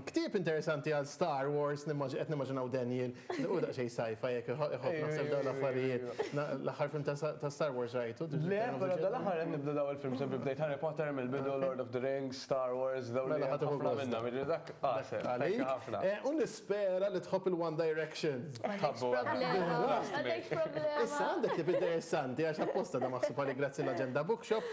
ktieb interessanti għal Star Wars, qed nimmaġinaw Daniel U daqsxejn sci-fi jekk iħobb naħseb dawn l-affarijiet. L-aħħar film ta' Star Wars rajtu? Le, però dal-aħħar qed nibda dawn il-films, sempre bdejt Harry Potter mill-bidu, Lord of the Rings, Star Wars, dawn li ħafna minnhom, jiġifieri dak għasel, thank you ħafna. U nispera li tħobb il-One Direction. Tħabbu. M'għandekx problema. Issa għandek tip interessanti għax apposta da maħsub għalik grazzi l-Agenda Bookshop.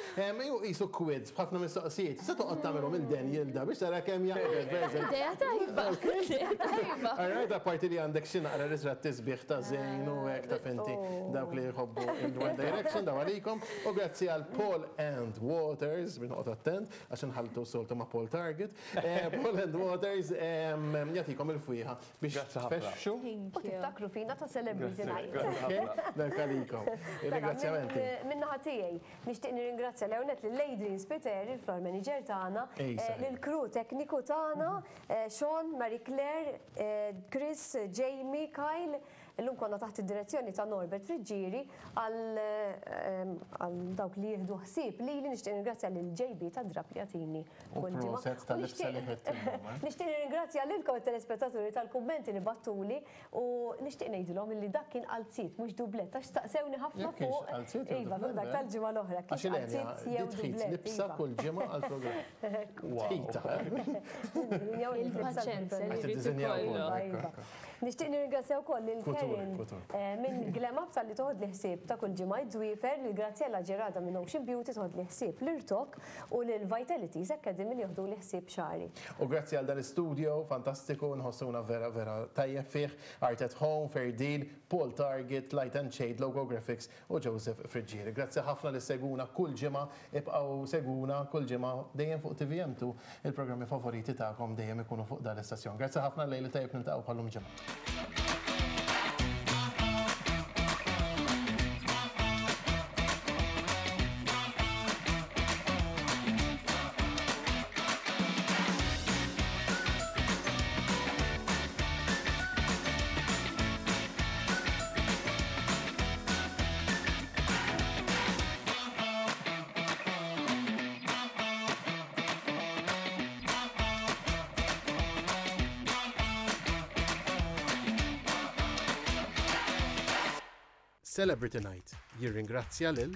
Qisu quiz b'ħafna mistoqsijiet. Se toqgħod tagħmelhom il Daniel da biex tara kemm jaqbel pereżempju. Idea tajba. Idea tajba. All right, apparti li għandek xi naqra ritratti sbieħ ta' Zayn u hekk ta' finti dawk li jħobbu il-One Direction daw għalikom. U grazzi għal Paul and Waters, biex noqgħod attent għax inħalltu soltu ma' Paul Target. Paul and Waters jagħtikom il-fwieħa biex tfexxu. U tiftakru fina ta' Celebrity Night. Dak għalikom. Ringrazzjamenti. Min-naħa tiegħi. Nixtieq nirringrazzja l-ewwel nett lil Adrian Spiteri, il-floor manager tagħna, lill-crew tekniku tagħna, Sean, Marie Claire, Chris, Jamie, Kyle, Illum konna taħt id-direzzjoni ta' Norbert Friggieri għal għal dawk li jieħdu ħsieb lili nixtieq nirringrazzja lil JB tad-drapp li jagħtini kull ġimgħa. U proset tal-libsa li ħedt illum. Eh? Nixtieq nirringrazzja lilkom it-telespettaturi tal-kummenti li battuli u nixtieq ngħidilhom li dak kien qalzit mhux dublett għax staqsewni ħafna fuq. Iva, fuq dak eh? tal-ġimgħa l-oħra. Għax qalzit jew dublett. Libsa iva. kull ġimgħa għall-programm. Tħita. Eh? Il-paċenza li jrid ikollok. Nixtieq nirringrazzja wkoll lil Karen minn Glam Up talli toħodli ħsieb ta' kull ġimgħa id-dwiefer, lil Graziella Gerada minn Ocean Beauty toħodli ħsieb l-irtokk u lil Vitalities Academy li joħduli ħsieb xagħri. U grazzi għal dan l-istudio fantastiku nħossuna vera vera tajjeb fih, Art at Home, Fair Deal, Paul Target, Light and Shade, Logo Graphics u Joseph Friggieri. Grazzi ħafna li ssegwuna kull ġimgħa, ibqgħu segwuna kull ġimgħa dejjem fuq TVM2, il-programmi favoriti tagħkom dejjem ikunu fuq dan l-istazzjon. Grazzi ħafna lejl it-tajjeb niltaqgħu bħal-lum ġimgħa. Celebrity Night jirringrazzja lil.